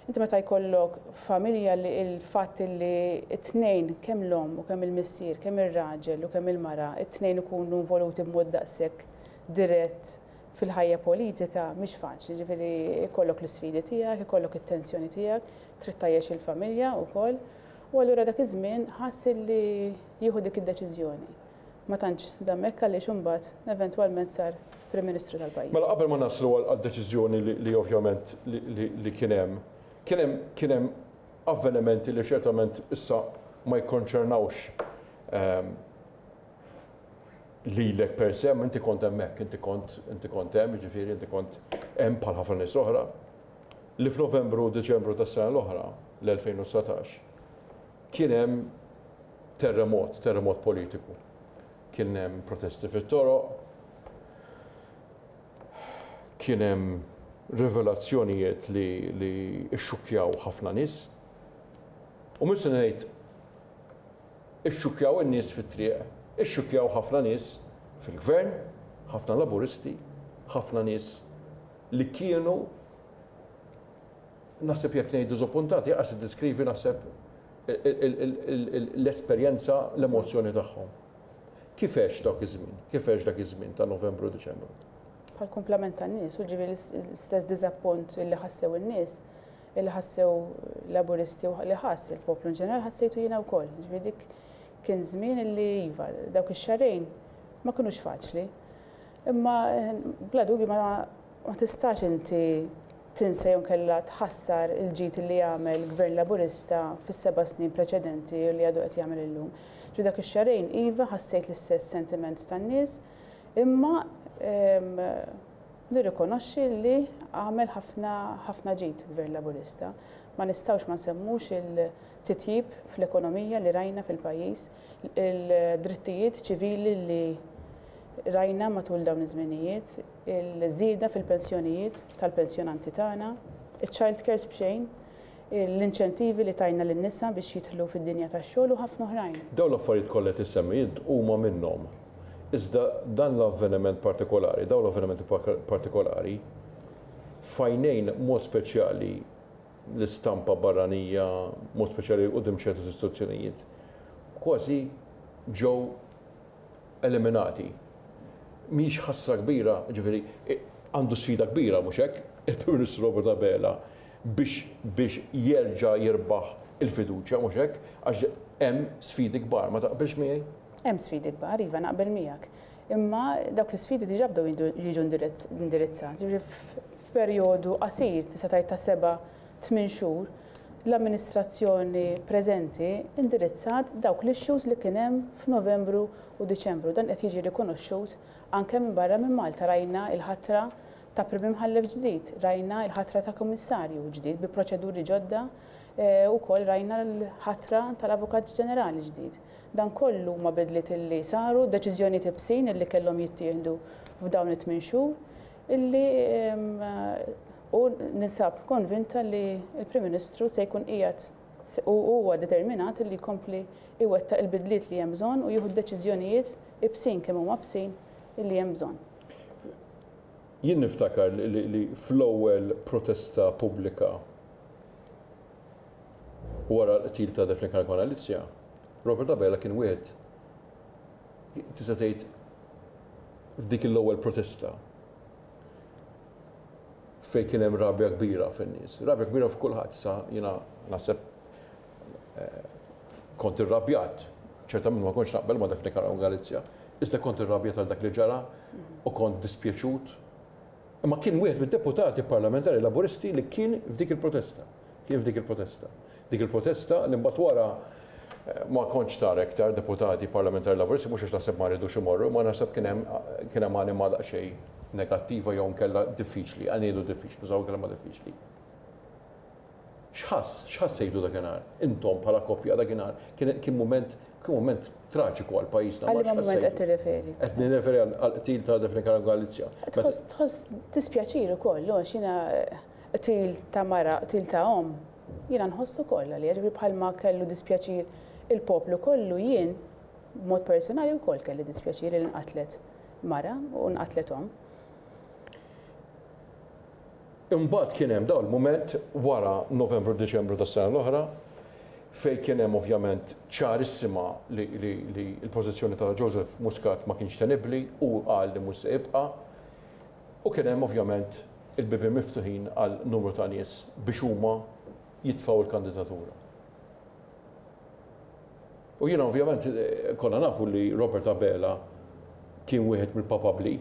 Inti meta jkollok familja li l-fatt li t-tnejn kemm l-omm u kemm il-missier, kemm ir-raġel u kemm il-mara, it-tnejn ikunu involuti b'mod daqshekk dirett fil-ħajja politika mhix faċli, ġifieri ikollok l-isfidi tiegħek, ikollok it-tensjoni tiegħek, trid tgħajjex il-familja wkoll. U allura dak iż-żmien ħass li jieħu dik id-deċiżjoni. Ma tantx dam hekk għaliex imbagħad eventwalment sar Prim Ministru tal-pajjiż. Mela qabel ma naslu għad-deċiżjoni li ovvjament li kien hemm, kien hemm kien hemm avvenimenti li ċertament issa ma jikkonċernawx lilek per se, inti kont hemmhekk, inti kont inti kont hemm, jiġifieri inti kont hemm bħal ħafna nies oħra, li f'Novembru u Diċembru tas-sena l-oħra, l-2019, kien hemm terremot, terremot politiku. Kien hemm protesti fit-toroq, kien hemm rivelazzjonijiet li li xxukkjaw ħafna nies. U mhux se ngħid Ixxukkjaw in-nies fit-triq, ixxukkjaw ħafna nies fil-Gvern, ħafna Laburisti, ħafna nies li kienu naħseb jekk ngħid diżappuntati qas tiddeskrivi naħseb l-esperjenza, l-emozzjoni tagħhom. Kif għext dawk iż-żmien? Kif għext dak iż-żmien ta' Novembru u Diċembru? Bħal kumplament tan-nies, u ġifieri l-istess diżappunt li ħassew in-nies, li ħassew Laburisti u li ħass il-poplu in ġenerali ħassejtu jiena wkoll. Ġifieri dik kien żmien li iva, dawk ix-xahrejn ma kinux faċli. Imma bla dubju ma, ma tistax inti tinsa jew inkella tħassar il-ġid li għamel Gvern Laburista fis-seba' snin preċedenti u li għadu qed jagħmel illum. Ġifieri dak ix-xahrejn iva ħassejt l-istess sentiment tan-nies, imma Nirrikonoxxi li għamel ħafna ħafna ġid Gvern Laburista. Ma nistgħux ma nsemmux il-titjib fl-ekonomija li rajna fil-pajjiż, il-drittijiet ċivili li rajna matul dawn iż-żminijiet, il-żieda fil-pensjonijiet tal-pensjonanti tagħna, iċ-child cares b'xejn, l-inċentivi li tajna lin-nisa biex jidħlu fid-dinja tax-xogħol u ħafna oħrajn. Dawn l-affarijiet kollha li qed issemmi int huma minnhom. Iżda dan l-avveniment partikolari, dawn l-avvenimenti partikolari, f'għajnejn mod speċjali l-istampa barranija, mod speċjali quddiem ċertu istituzzjonijiet, kważi ġew eliminati. Mhijiex ħasra kbira, jiġifieri għandu sfida kbira mhux hekk, il-Prim Ministru Robert Abela biex biex jerġa' jirbaħ il-fiduċja mhux hekk, għax hemm sfidi kbar, ma taqbilx miegħi? Hemm sfidi kbar, iva naqbel miegħek. Imma dawk l-isfidi diġà bdew jiġu indirizzati. Jiġifieri f'perjodu qasir, tista' tgħid ta' seba' tmien xhur, l-amministrazzjoni preżenti indirizzat dawk l-issues li kien hemm f'Novembru u Diċembru. Dan qed jiġi rikonoxxut anke minn barra minn Malta. Rajna l-ħatra ta' Prim Imħallef ġdid, rajna l-ħatra ta' Kummissarju ġdid bi proċeduri ġodda, ukoll rajna l-ħatra tal-Avukat Ġenerali ġdid. Dan kollu huma bidliet illi saru, deċiżjonijiet ibsin illi kellhom jittieħdu f'dawn it-tmin xhur illi u ninsab konvinta li l-Prim Ministru se jkun qiegħed u huwa determinat illi jkompli iwettaq il-bidliet li hemm bżonn u jieħu d-deċiżjonijiet ibsin kemm huma bsin illi hemm bżonn. Jien niftakar li fl-ewwel protesta pubblika wara l-qtil ta' Daphne Caruana Galizia, Robert Abela kien wieħed tista' tgħid f'dik l-ewwel protesta fejn kien hemm rabja kbira fin-nies, rabja kbira f'kulħadd, sa jiena naħseb eh, kont irrabjat, ċertament ma kontx naqbel ma' Daphne Caruana Galizia, iżda kont irrabjat għal dak li ġara u kont dispjaċut. Imma kien wieħed mid-deputati parlamentari Laburisti li kien f'dik il-protesta. Kien f'dik il-protesta. Dik il-protesta li mbagħad wara eh, ma kontx tara iktar deputati parlamentari Laburisti mhux għax naħseb ma rridux imorru, ma naħseb kien hemm kien hemm anima daqsxejn negattiva jew nkella diffiċli, għanidu diffiċli, nużaw kelma diffiċli. X'ħass, x'ħassejtu dakinhar? Intom bħala koppja dakinhar kien kien mument kien mument traġiku għal pajjiżna. Għal liema mument qed tirreferi? Qed nirreferi għal qtil ta' Daphne Caruana Galizia. Tħoss tħoss dispjaċir ukoll, għax jiena qtil ta' mara, qtil ta' omm, jiena nħoss ukoll għaliha, ġifieri bħalma kellu dispjaċir il-poplu kollu jien b'mod personali wkoll kelli dispjaċir li nqatlet mara u nqatlet omm. Imbagħad kien hemm dawn il-mument wara Novembru Diċembru tas-sena l-oħra fejn kien hemm ovvjament ċarissima li l-pożizzjoni ta' Joseph Muscat ma kienx tenibbli u qal li mhux se jibqa' u kien hemm ovvjament il-bibien miftuħin għal numru ta' nies biex huma jitfgħu l-kandidatura. U jiena ovvjament konna nafu li Robert Abela kien wieħed mill-papabbli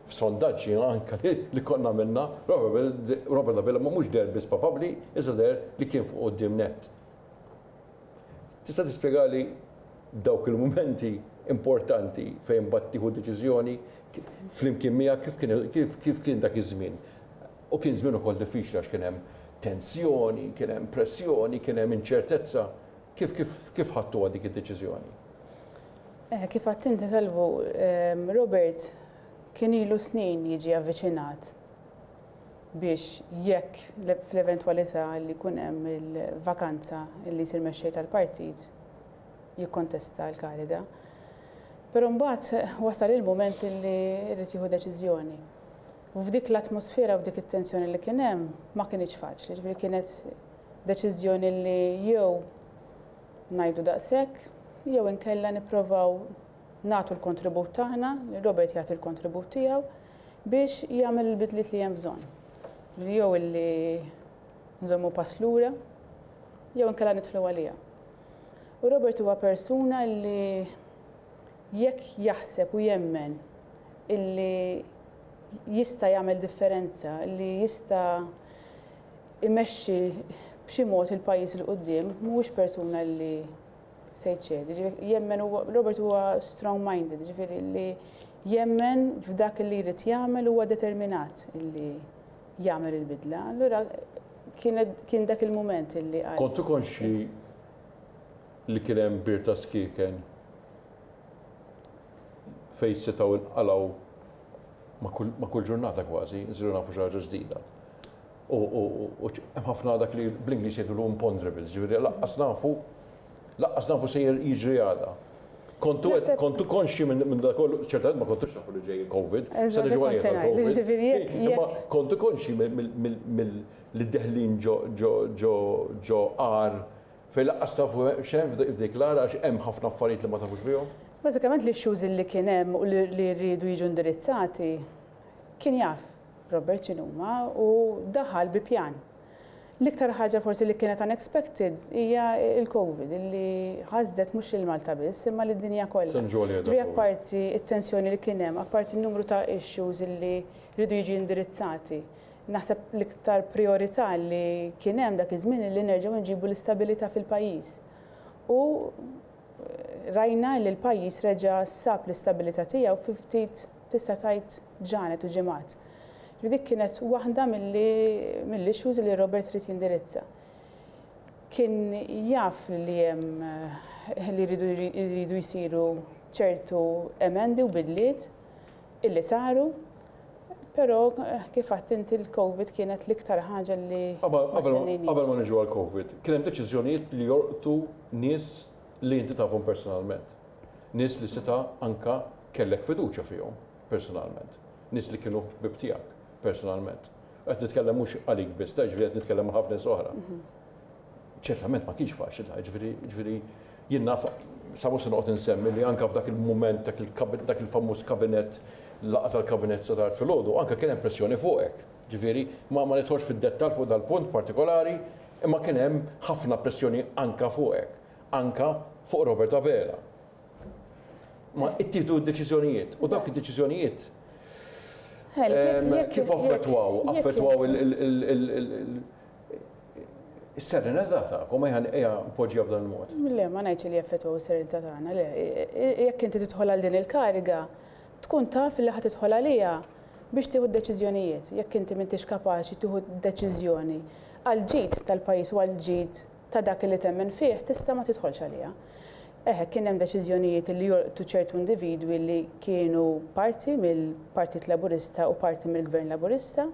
f'sondaġġi anke li konna għamilna, Robert Abela ma mhux deher biss papabbli, iżda deher li kien fuq quddiem nett. Tista' tispjegali dawk il-mumenti importanti fejn mbagħad tieħu deċiżjoni flimkien miegħek kif kien kif kif kien dak iż-żmien? U kien żmien ukoll diffiċli għax kien hemm tensjoni, kien hemm pressjoni, kien hemm inċertezza. Kif kif kif ħadtuha dik id-deċiżjoni? Eh, kif għedt inti Salvu, Robert kien ilu snin jiġi avviċinat biex jekk fl-eventwalità li jkun hemm il-vakanza li jsir mexxej tal-partit jikkontesta l-kariga. Però mbagħad wasal il-mument li jrid jieħu deċiżjoni. U f'dik l-atmosfera u f'dik it-tensjoni li kien hemm ma kinitx faċli, ġifieri kienet deċiżjoni li jew ngħidu daqshekk jew inkella nipprovaw nagħtu l-kontribut tagħna, li Robert jagħti l-kontribut tiegħu biex jagħmel il-bidliet li hemm bżonn. Jew illi nżommu pass lura, jew inkella nidħlu għaliha. U Robert huwa persuna li jekk jaħseb u jemmen illi jista' jagħmel differenza, li jista' imexxi b'xi mod il-pajjiż 'il quddiem, mhuwiex persuna li se jċedi. Jemmen Robert huwa strong minded, ġifieri li jemmen f'dak li jrid jagħmel huwa determinat li jagħmel il-bidla. Allura kien dak il-mument li qal. Kontu konxji li kien hemm bir ta' skieken fejn setgħu nqalgħu ma' kull ġurnata kważi, nsiru nafu xi ħaġa ġdida. U hemm ħafna dak li bl-Ingliż jgħidulu imponderables, ġifieri laqqas nafu laqqas nafu se jiġri għada. Kontu kontu konxji minn dak kollu, ċertament ma kontux tafu li ġej il-Covid, se niġu għalih il-Covid. Imma kontu konxji mill deħlin ġo ġo ġo ġo għar fejn laqqas tafu x'hemm f'dik l-għar għax hemm ħafna affarijiet li ma tafux bihom. Bażikament l-issues li kien hemm u li riedu jiġu indirizzati kien jaf Robert x'inhuma u daħal bi pjan. L-iktar ħaġa forsi li kienet unexpected hija l-Covid li ħasdet mhux lil Malta biss imma lid-dinja kollha. Ġifieri apparti t-tensjoni li kien hemm, apparti n-numru ta' issues li riedu jiġi indirizzati, naħseb l-iktar prijorità li kien hemm dak iż-żmien li nerġgħu nġibu l-istabilità fil-pajjiż. U rajna li l-pajjiż reġa' sab l-istabilità tiegħu fi ftit tista' tgħid ġranet u ġimgħat. Ġifieri dik kienet waħda mill-issues li Robert ried jindirizza. Kien jaf li hemm li jridu jsiru ċertu emendi u bidliet illi saru, però kif għedt inti l-Covid kienet l-iktar ħaġa li ma stennejniex. Qabel ma niġu għall-Covid, kien hemm deċiżjonijiet li jolqtu nies li inti tafhom personalment. Nies li seta' anke kellek fiduċja fihom personalment. Nies li kienu ħbieb tiegħek personalment. Qed nitkellem mhux għalik biss, ta' ġifieri qed nitkellem ma' ħafna nies oħra. Ċertament ma kienx faċli ta' ġifieri ġifieri jien naf sa mhux se noqgħod insemmi li anke f'dak il-mument dak il-famuż kabinett laqgħa tal-kabinett sa tard filgħodu anke kien hemm pressjoni fuqek. Ġifieri ma ma nidħolx fid-dettall fuq dal-punt partikolari, imma kien hemm ħafna pressjoni anke fuqek, anke fuq Robert Abela. Ma ittieħdu d-deċiżjonijiet u dawk id-deċiżjonijiet kif affettwaw, affettwaw is-serenità tagħkom, ejja ejja npoġġiha b'dan il-mod. Le, ma ngħidx li jaffettwaw is-serenità tagħna, le. Jekk inti tidħol għal din il-kariga, tkun taf li ħa tidħol għaliha biex tieħu d-deċiżjonijiet. Jekk inti m'intix kapaċi tieħu deċiżjoni għall-ġid tal-pajjiż u għall-ġid ta' dak li temmen fih, tista' ma tidħolx għaliha. Eħe, kien hemm deċiżjonijiet li jolqtu ċertu individwi li kienu parti mill-Partit Laburista u parti mill-Gvern Laburista,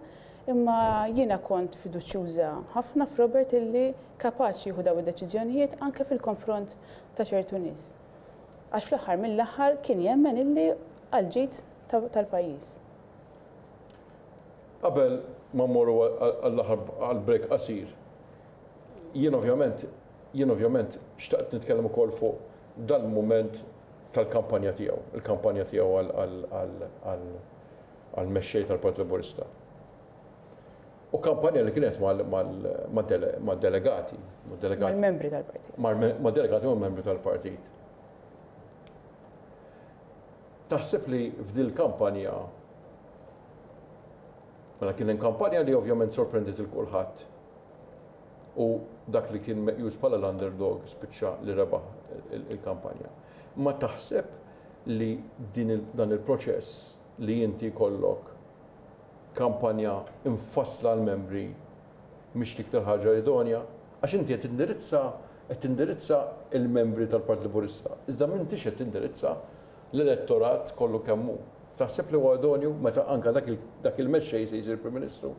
imma jiena kont fiduċjuża ħafna f'Robert illi kapaċi jieħu dawn id-deċiżjonijiet anke fil-konfront ta' ċertu nies. Għax fl-aħħar mill-aħħar kien jemmen illi għall-ġid tal-pajjiż. Qabel ma mmorru għall-aħħar għall-break qasir, Jien ovvjament, jien ovvjament xtaqt nitkellem ukoll fuq dal-mument tal-kampanja tiegħu, il-kampanja tiegħu għall-mexxej tal-Partit Laburista. U kampanja li kienet mad-delegati, mad-delegati. Mal-membri tal-partit. Mad-delegati u membri tal-partit. Taħseb li f'dil kampanja mela kien hemm kampanja li ovvjament sorprendiet il kulħadd u dak li kien meqjus bħala l-underdog spiċċa li rebaħ il-kampanja. Ma taħseb li din dan il-proċess li inti jkollok kampanja imfassla għall-membri mhix l-iktar ħaġa idonja? Għax inti qed tindirizza qed tindirizza l-membri tal-Partit Laburista, iżda m'intix qed tindirizza l-elettorat kollu kemm hu. Taħseb li huwa idonju meta anke dak il-mexxej se jsir Prim Ministru?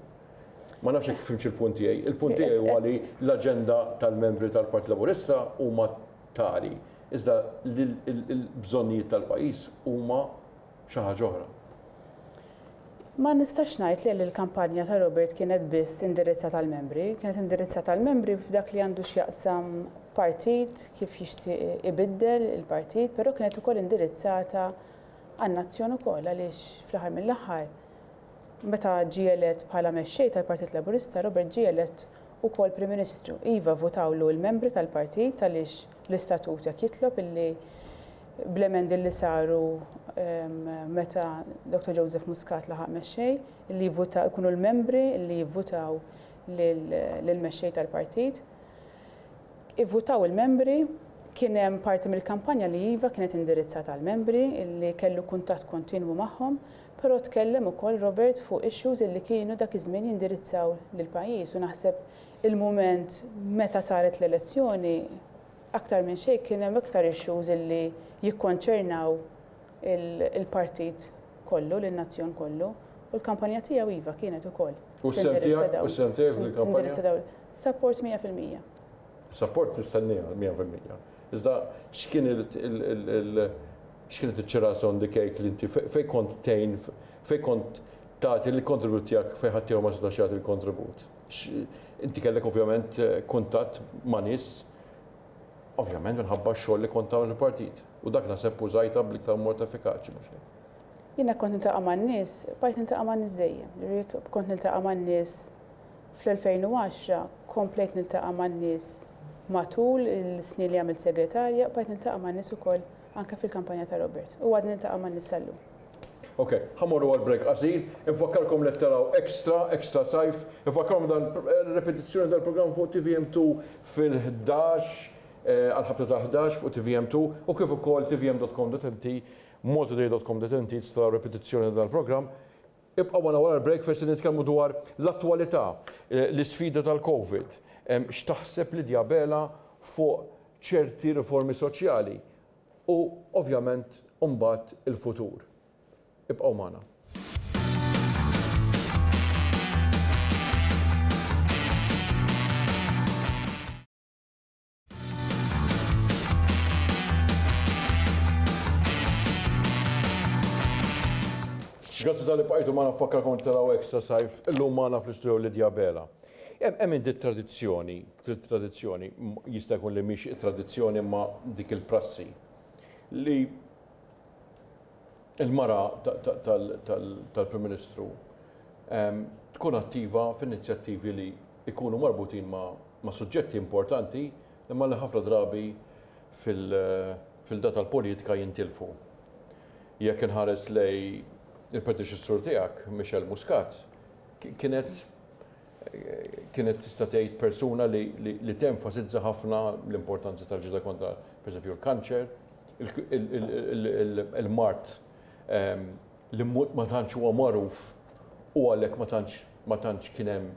Ma nafx jekk fhimtx il-punt tiegħi. Il-punt tiegħi huwa li l-aġenda tal-membri tal-Partit Laburista huma tali, iżda l-bżonnijiet tal-pajjiż huma xi ħaġa oħra. Ma nistax ngħid li l-kampanja ta' Robert kienet biss indirizzata għall-membri, kienet indirizzata għall-membri f'dak li għandu x'jaqsam partit, kif jixtieq ibiddel il-partit, però kienet ukoll indirizzata għan-nazzjon ukoll għaliex fl-aħħar mill-aħħar Meta ġie elett bħala mexxej tal-Partit Laburista, Robert ġie elett ukoll Prim Ministru. Iva, vvutawlu l-membri tal-partit għaliex l-istatut hekk jitlob illi bl-emendi li saru meta Dottor Joseph Muscat laħaq mexxej, illi jivvuta jkunu l-membri li jivvutaw lill-mexxej tal-partit. Ivvutaw il-membri, kien hemm parti mill-kampanja li iva kienet indirizzata għall-membri illi kellu kuntatt kontinwu magħhom, Però tkellem ukoll Robert fuq issues illi kienu dak iż-żmien jindirizzaw lill-pajjiż u naħseb il-mument meta saret l-elezzjoni aktar minn xejn kien hemm iktar issues illi jikkonċernaw il-partit kollu, lin-nazzjon kollu u l-kampanja tiegħu iva kienet ukoll. U s-sehem tiegħek? U s-sehem tiegħek fil-kampanja? Support 100%. Support nistenniha 100%. Iżda x'kien il X'kienet iċ-ċirasa on the cake li inti fejn kont tgħin, fejn kont tagħti l-kontribut tiegħek fejn ħaddieħor ma setax jagħti l-kontribut? Inti kellek ovvjament kuntatt ma' nies ovvjament minħabba x-xogħol li kont tagħmel fil-partit. U dak naħseb użajtha bl-iktar mod effikaċi mhux hekk? Jiena kont niltaqa' man-nies, bqajt niltaqa' man-nies dejjem. Jiġifieri kont niltaqa' man-nies fl-2010, komplejt niltaqa' man-nies matul is-snin li għamilt segretarja, bqajt niltaqa' man-nies ukoll Anke fil-kampanja ta' Robert. U għadni niltaqa' man-nies sal-lum. Ok, ħa mmorru għal break qasir. Infakkarkom li qed taraw Extra, Extra Sajf. Infakkarkom dan repetizzjoni dal-programm fuq TVM2 fil-11, għall-ħabta tal-11 fuq TVM2 u kif ukoll tvm.com.mt, maltatoday.com.mt tistgħu taraw repetizzjoni ta' dal-programm. Ibqgħu magħna wara l-break fejn se nitkellmu dwar l-attwalità, l-isfida tal-Covid. X'taħseb Lydia Abela fuq ċerti riformi soċjali u ovvjament imbagħad il-futur. Ibqgħu magħna. Grazzi talli bqajtu magħna nfakkarkom taraw Extra Sajf illum magħna fl-istudio Lydia Abela. Hemm indi tradizzjoni, tradizzjoni, jista' jkun li mhix tradizzjoni imma dik il-prassi li il-mara tal-Prim Ministru tkun attiva f'inizjattivi li jkunu marbutin ma' suġġetti importanti imma li ħafna drabi fil-da tal-politika jintilfu. Jekk inħares lejn il-predeċessur tiegħek, Michelle Muscat, kienet kienet tista' tgħid persuna li, li, li tenfasizza ħafna l-importanza tal-ġida kontra, pereżempju, l-kanċer, il-mard li ma tantx huwa magħruf u għalhekk ma tantx ma tantx kien hemm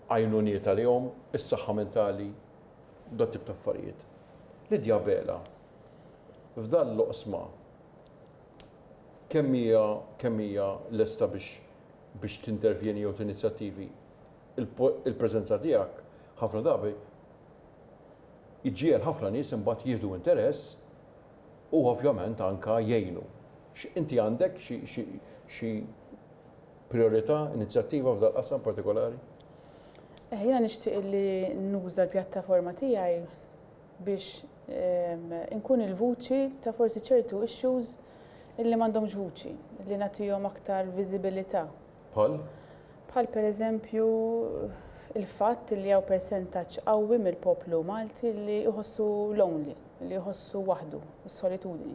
għajnuniet għalihom, is-saħħa mentali, dat tip ta' affarijiet. Lydia Abela, f'dan l-oqsma kemm hija kemm hija lesta biex biex tintervjeni jew tinizjattivi, il-preżenza tiegħek ħafna drabi iġġiegħel ħafna nies imbagħad jieħdu interess u ovvjament anke jgħinu. Inti għandek xi priorità, inizjattiva f'dal-qasam partikolari? Eh, jiena nixtieq li nuża l-pjattaforma tiegħi biex inkun il-vuċi ta' forsi ċertu issues illi m'għandhomx vuċi, li nagħtihom aktar viżibilità. Bħal? Bħal pereżempju il-fatt li hawn persentaġġ qawwi mill-poplu Malti li jħossu lonely, li jħossu waħdu, is-solitudni.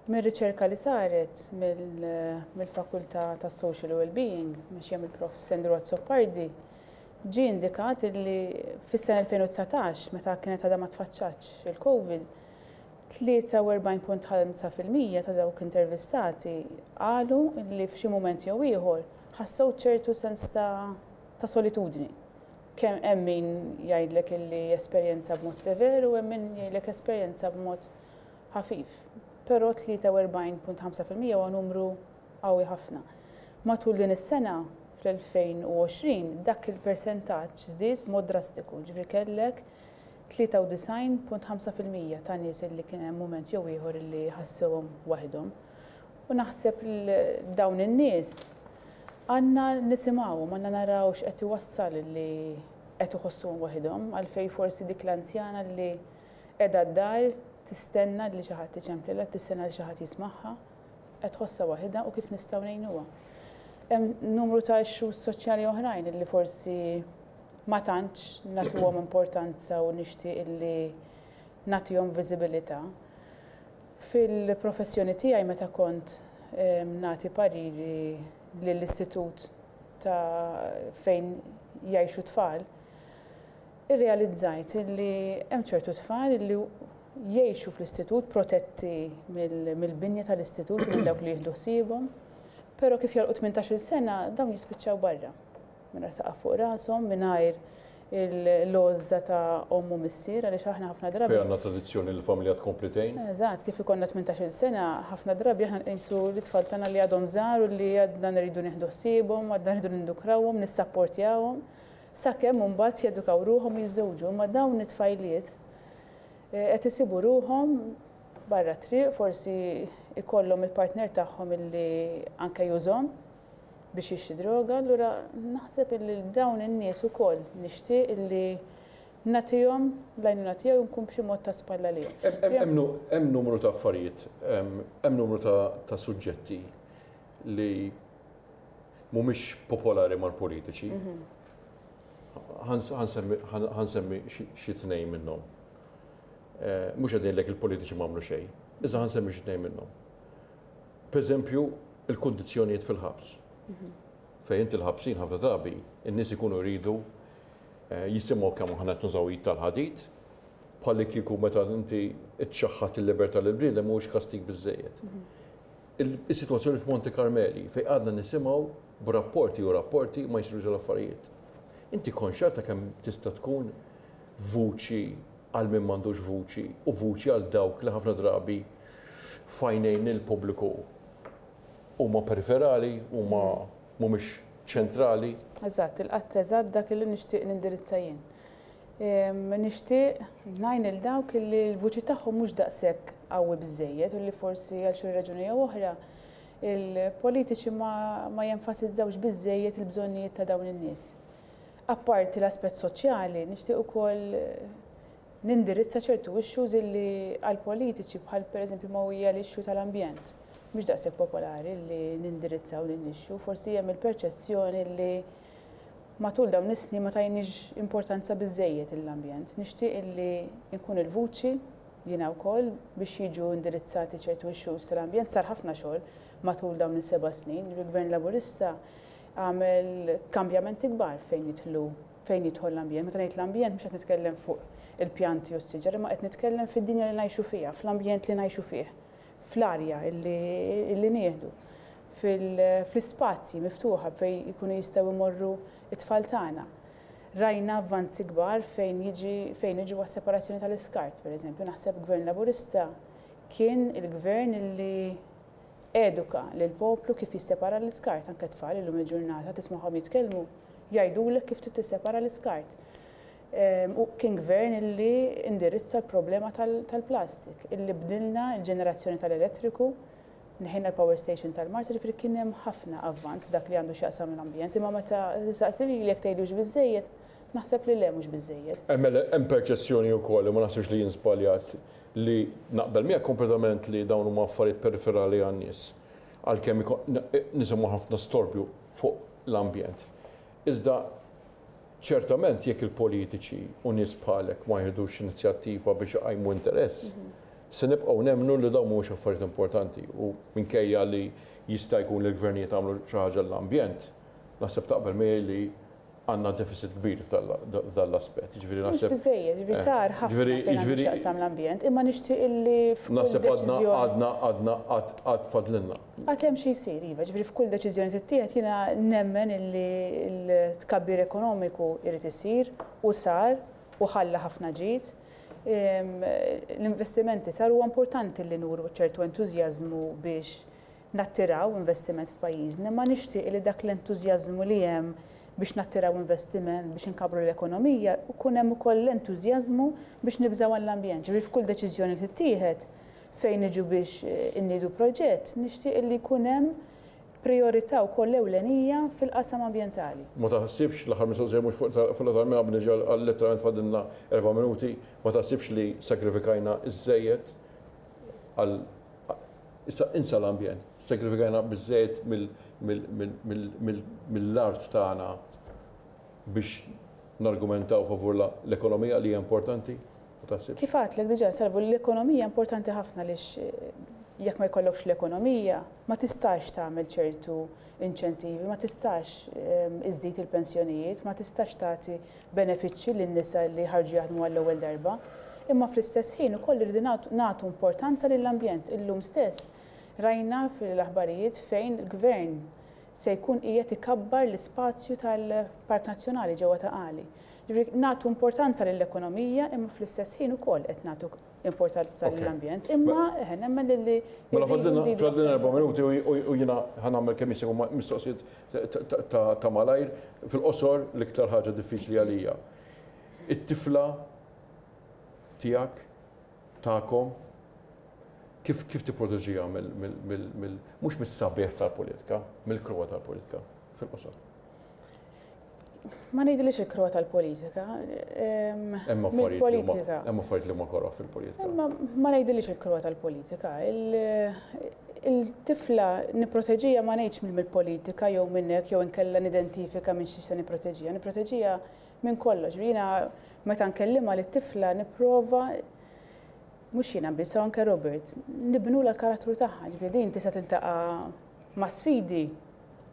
Mir-riċerka li saret mill-Fakultà tas-Social Wellbeing, mexjija mill-Prof. Sandro Azzopardi, ġie indikat li fis-sena 2019, meta kienet għadha ma tfaċċatx il-Covid, 43.5% ta' dawk intervistati qalu li f'xi mument jew ieħor ħassew ċertu sens ta' ta' solitudni. Kemm hemm min jgħidlek illi esperjenza b'mod sever u hemm min jgħidlek esperjenza b'mod ħafif. Però 43.5% huwa numru qawwi ħafna. Matul din is-sena, fl-2020, dak il-persentaġġ żdied b'mod drastiku, ġifieri kellek 93.5% ta' nies illi kien hemm mument jew ieħor illi ħassewhom waħedhom. U naħseb dawn in-nies għandna nisimgħuhom, għandna naraw x'qed iwassal illi qed iħossuhom waħedhom, għalfejn forsi dik l-anzjana li qiegħda d-dar tistenna li xi ħadd iċemplilha, tistenna li xi ħadd jismagħha, qed tħossha waħedha u kif nistgħu ngħinuha. Hemm numru ta' issues soċjali oħrajn illi forsi ma tantx nagħtuhom importanza u nixtieq illi nagħtihom viżibilità. Fil-professjoni tiegħi meta kont nagħti pariri lill-istitut ta' fejn jgħixu tfal, irrealizzajt illi hemm ċertu tfal illi jgħixu fl-istitut protetti mill-binja tal-istitut u minn dawk li jieħdu ħsiebhom, però kif jagħlqu 18-il sena dawn jispiċċaw barra. Mingħajr saqaf fuq rashom, mingħajr l-għożża ta' omm u missier għaliex aħna ħafna drabi. Fejn għandna tradizzjoni li l-familja tkompli tgħin. Eżatt, kif ikollna 18-il sena, ħafna drabi aħna nqisu l-itfal tagħna li għadhom żgħar u li għadna nridu nieħdu ħsiebhom, għadna nridu nindukrawhom, nissapportjawhom, sakemm imbagħad jedukaw ruħhom u jiżżewġu. Imma dawn it-tfajliet qed isibu ruħhom barra t-triq, forsi ikollhom il-partner tagħhom illi anke jużhom biex jixtri droga, allura naħseb illi dawn in-nies ukoll nixtieq illi nagħtihom l-għajnuna tiegħi u nkun b'xi mod ta' spalla lihom. Hemm numru ta' affarijiet, hemm numru ta' suġġetti li mhumiex popolari mal-politiċi. Ħa nsemmi xi tnejn minnhom. Mhux qed ngħidlek il-politiċi m'għamlu xejn, iżda ħa nsemmi xi tnejn minnhom. Pereżempju, il-kundizzjonijiet fil-ħabs. Fejn inti l-ħabsin ħafna drabi, in-nies ikunu jridu jisimgħu kemm aħna qed nużaw id tal-ħadid, bħalli kieku meta inti ċċaħħad il-libertà lill-bniedem mhuwiex kastig biżżejjed. Is-sitwazzjoni f'Monte Carmeli fejn għadna nisimgħu b'rapporti u rapporti ma jsirux l-affarijiet. Inti konxja ta' kemm tista' tkun vuċi għal min m'għandux vuċi u vuċi għal dawk li ħafna drabi f'għajnejn il-pubbliku huma periferali, huma mhumiex ċentrali? Eżatt, ilqatt eżatt dak li nixtieq nindirizza jien. Nixtieq ngħin lil dawk li l-vuċi tagħhom mhux daqshekk qawwi biżżejjed u li forsi għal xi raġuni jew oħra il-politiċi ma jenfasizzawx biżżejjed il-bżonnijiet ta' dawn in-nies. Apparti l-aspett soċjali, nixtieq ukoll nindirizza ċertu issues illi għall-politiċi bħal pereżempju ma hija l-issue tal-ambjent. Mhux daqshekk popolari li nindirizzaw din l-issue, forsi hemm il-perċezzjoni li matul dawn is-snin ma tajniex importanza biżżejjed lill-ambjent. Nixtieq illi nkun il-vuċi jiena wkoll biex jiġu indirizzati ċertu issues tal-ambjent. Sar ħafna xogħol matul dawn is-seba' snin. Il-Gvern Laburista għamel kambjamenti kbar fejn jidħlu fejn jidħol l-ambjent. Meta ngħid l-ambjent mhux qed nitkellem fuq il-pjanti u s-siġar, imma qed nitkellem fid-dinja li ngħixu fiha, fl-ambjent li ngħixu fih, fl-arja illi nieħdu, fl-ispazji miftuħa fejn ikunu jistgħu jmorru t-tfal tagħna. Rajna avvanzi kbar fejn jiġi fejn niġu għas-separazzjoni tal-iskart, pereżempju. Naħseb Gvern Laburista kien il-gvern illi eduka lill-poplu kif jissepara l-iskart, anke t-tfal illum il-ġurnata tismagħhom jitkellmu jgħidulek kif trid tissepara l-iskart. U kien gvern illi indirizza l-problema tal-plastik, illi bdilna l-ġenerazzjoni tal-elettriku, neħejna l-power station tal-Marsa, ġifieri kien hemm ħafna avvanz f'dak li għandu x'jaqsam l-ambjent, imma meta tistaqsi lili jekk tgħidli hux biżżejjed, naħseb li le mhux biżżejjed. Hemm perċezzjoni wkoll, u ma naħsibx li jien żbaljat, li naqbel miegħek kompletament li dawn huma affarijiet periferali għan-nies, għalkemm nisimgħu ħafna storbju fuq l-ambjent. Iżda ċertament jekk il-politiċi u nies bħalek ma jieħdux inizjattiva biex iqajmu interess, se nibqgħu nemmnu li dawn mhumiex affarijiet importanti u minkejja li jista' jkun li l-gvernijiet għamlu xi ħaġa għall-ambjent, naħseb taqbel miegħi li għandna deficit kbir f'dan l-aspett. Jiġifieri naħseb. Mhux biżżejjed, jiġifieri sar ħafna fejn għandu x'jaqsam l-ambjent, imma nixtieq illi f'kull deċiżjoni. Naħseb għadna għadna għad għad fadlilna. Għad hemm xi jsir, iva, jiġifieri f'kull deċiżjoni tittieħed jiena nemmen illi l-tkabbir ekonomiku jrid isir u sar u ħalla ħafna ġid. L-investimenti saru huwa importanti li nuru ċertu entużjażmu biex nattiraw investiment f'pajjiżna, imma nixtieq li dak l-entużjażmu li hemm biex nattiraw investiment, biex inkabbru l-ekonomija, ikun hemm ukoll l-entużjażmu biex nibżgħu għall-ambjent. Ġifieri f'kull deċiżjoni li tittieħed fejn niġu biex inniedu proġett, nixtieq li jkun hemm prijorità wkoll ewlenija fil-qasam ambjentali. Ma taħsibx, l-aħħar mistoqsija mhux fuq l-aħħar qabel niġi għal letteralment fadlilna erba' minuti, ma taħsibx li sagrifikajna żżejjed għal Issa insa l-ambjent, sagrifikajna biżżejjed mill-art tagħna biex nargumentaw favur l-ekonomija li hija importanti, ma taħsibx? Kif għedtlek diġà, Salvu, l-ekonomija importanti ħafna għaliex jekk ma jkollokx l-ekonomija ma tistax tagħmel ċertu inċentivi, ma tistax iżżid il-pensjonijiet, ma tistax tagħti benefiċċji lin-nisa li ħarġu jaħdmu għall-ewwel darba, imma fl-istess ħin ukoll irridu nagħtu importanza lill-ambjent. Illum stess rajna fil-aħbarijiet fejn il-Gvern se jkun qiegħed ikabbar l-ispazju tal-Park Nazzjonali ġewwa Ta' Qali. Ġifieri nagħtu importanza lill-ekonomija imma fl-istess ħin ukoll qed nagħtu importanza lill-ambjent. Imma eħe nemmen li Mela fadlilna erba' minuti u jiena ħa nagħmel kemm jista' jkun mistoqsijiet ta' malajr, fil-qosor l-iktar ħaġa diffiċli għalija. It-tifla tiegħek, tagħkom, kif kif tipproteġiha mill mhux mis-sabiħ tal-politika, mill-kruha tal-politika, fil-qosor? Ma ngħidilix il-kruha tal-politika. Hemm affarijiet hemm affarijiet li huma koroh fil-politika. Imma ma ngħidilix il-kruha tal-politika. Il-tifla nipproteġiha ma ngħidx mill-politika jew minn hekk jew inkella nidentifika minn xiex se nipproteġiha. Nipproteġiha minn kollox. Jiena meta nkellimha lit-tifla nipprova mhux jiena biss, anke Robert, nibnulha l-karattru tagħha. Ġifieri din tista' tiltaqa' ma' sfidi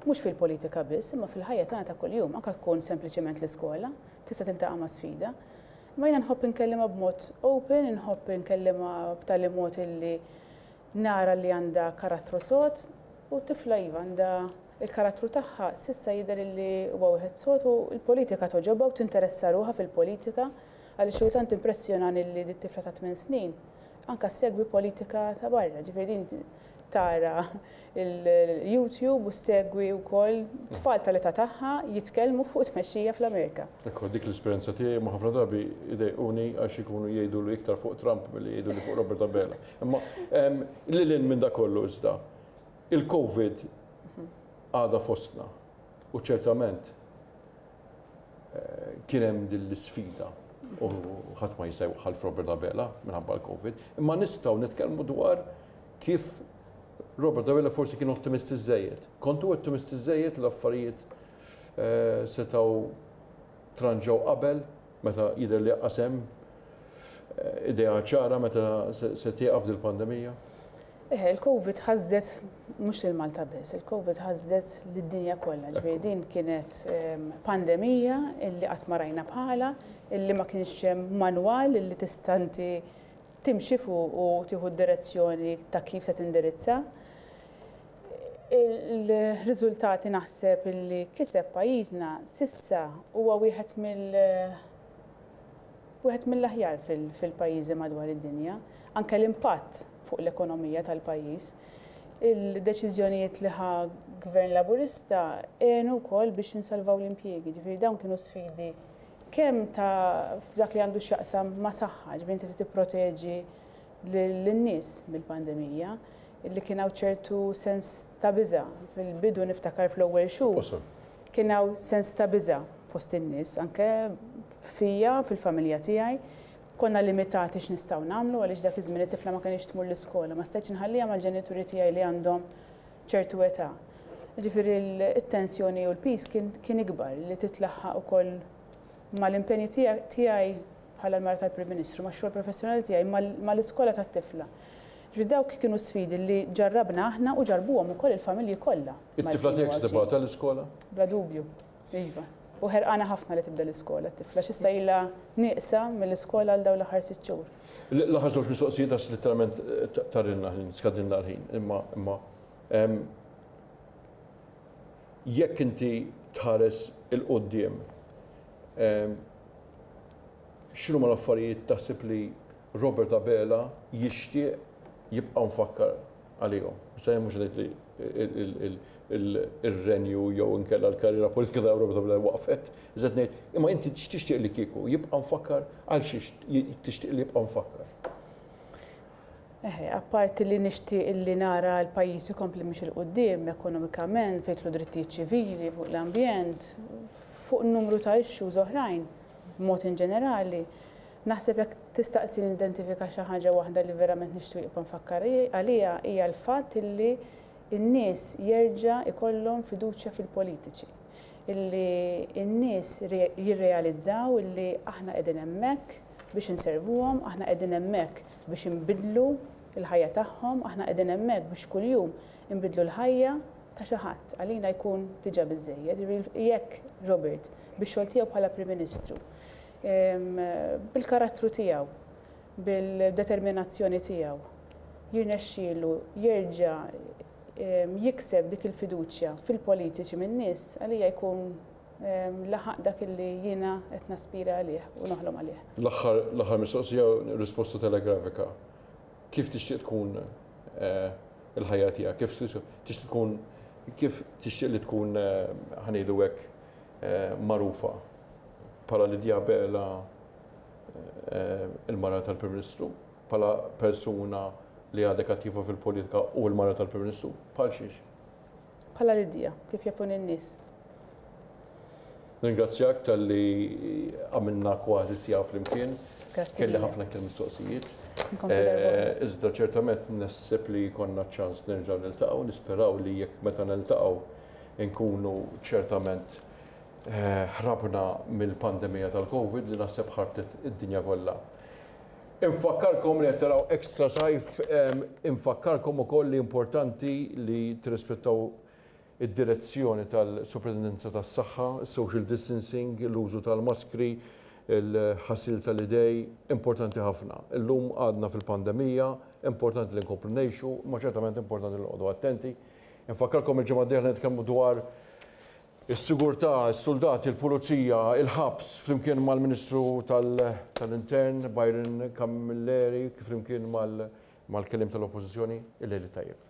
Mhux fil-politika biss, imma fil-ħajja tagħna ta' kuljum, anke tkun sempliċement l-iskola, tista' tiltaqa' ma' sfida. Imma jiena nħobb inkellimha b'mod open, inħobb inkellimha b'tali mod illi nara li għandha karattru sod u t-tifla iva għandha Il-karattru tagħha s'issa jidher illi huwa wieħed sod u l-politika togħġobha u tinteressa ruħha fil-politika għaliex xi kultant timpressjonani li dit-tifla ta' tminn snin anke ssegwi politika ta' barra. Ġifieri din tara il-YouTube u ssegwi wkoll tfal tal-età tagħha jitkellmu fuq tmexxija fl-Amerika. Ekku, dik l-esperjenza tiegħi imma ħafna drabi jdejquni għax ikunu jgħidulu iktar fuq Trump milli jgħiduli fuq Robert Abela. Imma lil hinn minn dak kollu iżda, il-Covid għadha fostna u ċertament kien hemm din l-isfida u ħadd ma jista' jwaħħal f'Robert Abela minħabba l-Covid, imma nistgħu nitkellmu dwar kif Robert Abela forsi kien ottimist iżżejjed. Kontu ottimist iżżejjed l-affarijiet eh, setgħu tranġaw qabel meta jidher li qasem eh, idea ċara meta se tieqaf dil-pandemija? Eħe, il-Covid ħasdet mhux lil Malta biss, il-Covid ħasdet lid-dinja kollha. Ġifieri din kienet pandemija illi qatt ma rajna bħalha, illi ma kienx hemm manwal illi tista' inti timxi fuq u tieħu d-direzzjoni ta' kif se tindirizza. Il-riżultati naħseb illi kiseb pajjiżna s'issa huwa wieħed mill wieħed mill-aħjar fil-pajjiżi madwar id-dinja. Anke l-impatt fuq l-ekonomija tal-pajjiż. Il-deċiżjonijiet li ħa Gvern Laburista għenu wkoll biex insalvaw l-impjiegi. Ġifieri dawn kienu sfidi kemm ta' f'dak li għandu x'jaqsam ma' saħħa, ġifieri inti trid tipproteġi lin-nies mill-pandemija, li kien hawn ċertu sens ta' biża'. Fil-bidu niftakar fl-ewwel xhur kien hawn sens ta' biża' fost in-nies, anke fija, fil-familja tiegħi. Konna limitati x'nistgħu nagħmlu għaliex dak iż-żmien it-tifla ma kinitx tmur l-iskola, ma stajtx inħalliha mal-ġenituri tiegħi li għandhom ċertu età. Jiġifieri t-tensjoni u l-piż kien ikbar li titlaħħaq ukoll mal-impenji tiegħi bħala l-mara tal-Prim Ministru, max-xogħol professjonali tiegħi, mal-iskola tat-tifla. Ġifieri dawk kienu sfidi li ġarrabna aħna u ġarrbuhom ukoll il-familji kollha. It-tifla tiegħek se tibgħatha l-iskola? Bla dubju. Iva. U ħerqana ħafna li tibda l-iskola t-tifla, għax issa ilha nieqsa mill-iskola għal dawn l-aħħar sitt xhur. L-aħħar żewġ mistoqsijiet għax litteralment tarilna ħin, skadilna l-ħin, imma imma jekk inti tħares 'il quddiem, x'inhuma l-affarijiet taħseb li Robert Abela jixtieq jibqa' mfakkar għalihom. Issa jien mhux ngħid li ir-renju jew inkella l-karriera politika ta' Robert Abela waqfet, iżda ngħid imma inti x'tixtieq li kieku jibqa' mfakkar għal xiex tixtieq li jibqa' mfakkar? Eħe, apparti li nixtieq li nara l-pajjiż ikompli miexi 'l quddiem ekonomikament, fejn jidħlu drittijiet ċivili, fuq l-ambjent, fuq numru ta' issues oħrajn, b'mod inġenerali, Naħseb jekk tistaqsini nidentifika xi ħaġa waħda li verament nixtieq jibqa' mfakkar għaliha hija l-fatt illi n-nies jerġa' jkollhom fiduċja fil-politiċi. Illi n-nies jirrealizzaw illi aħna qegħdin hemmhekk biex inservuhom, aħna qegħdin hemmhekk biex inbiddlu l-ħajja tagħhom, aħna qegħdin hemmhekk biex kuljum inbiddlu l-ħajja ta' xi ħadd. Għalina jkun diġà biżżejjed. Jiġifieri jekk Robert, bix-xogħol tiegħu bħala Prim Ministru, bil-karattru tiegħu, bil-determinazzjoni tiegħu, jirnexxielu jerġa' jikseb dik il-fiduċja fil-politiċi min-nies, għalija jkun laħaq dak li jiena qed naspira għalih u noħlom għalih. L-aħħar mistoqsija u risposta telegrafika. Kif tixtieq tkun il-ħajja tiegħek? Kif tixtieq tkun kif tixtieq li tkun ħa ngħidu hekk magħrufa? Bħala Lydia Abela il-mara tal-Prim Ministru, bħala persuna li għadek attiva fil-politika u l-mara tal-Prim Ministru, bħal xiex? Bħala Lydia, kif jafuni n-nies. Nirringrazzjak talli għamilna kważi siegħa flimkien. Grazzi. Kelli ħafna iktar mistoqsijiet. Iżda ċertament naħseb li jkollna ċans nerġgħu niltaqgħu, nisperaw li jekk meta niltaqgħu nkunu ċertament Ħrabna mill-pandemija tal-Covid li naħseb ħarbtet id-dinja kollha. Infakkarkom li qed taraw Extra Sajf, infakkarkom ukoll li importanti li tirrispettaw id-direzzjoni tal-Sopraintendenza tas-Saħħa, is-social distancing, l-użu tal-maskri, il-ħasil tal-idej, importanti ħafna. Illum għadna fil-pandemija, importanti li nkomplu ngħixu, imma ċertament importanti li noqogħdu attenti. Infakkarkom il-ġimgħa d-dieħla nitkellmu dwar is-sigurtà, is-suldati, il-pulizija, il-ħabs flimkien mal-Ministru tal-Intern Byron Camilleri flimkien mal-kelliem tal-Oppożizzjoni. Il-lejl it-tajjeb.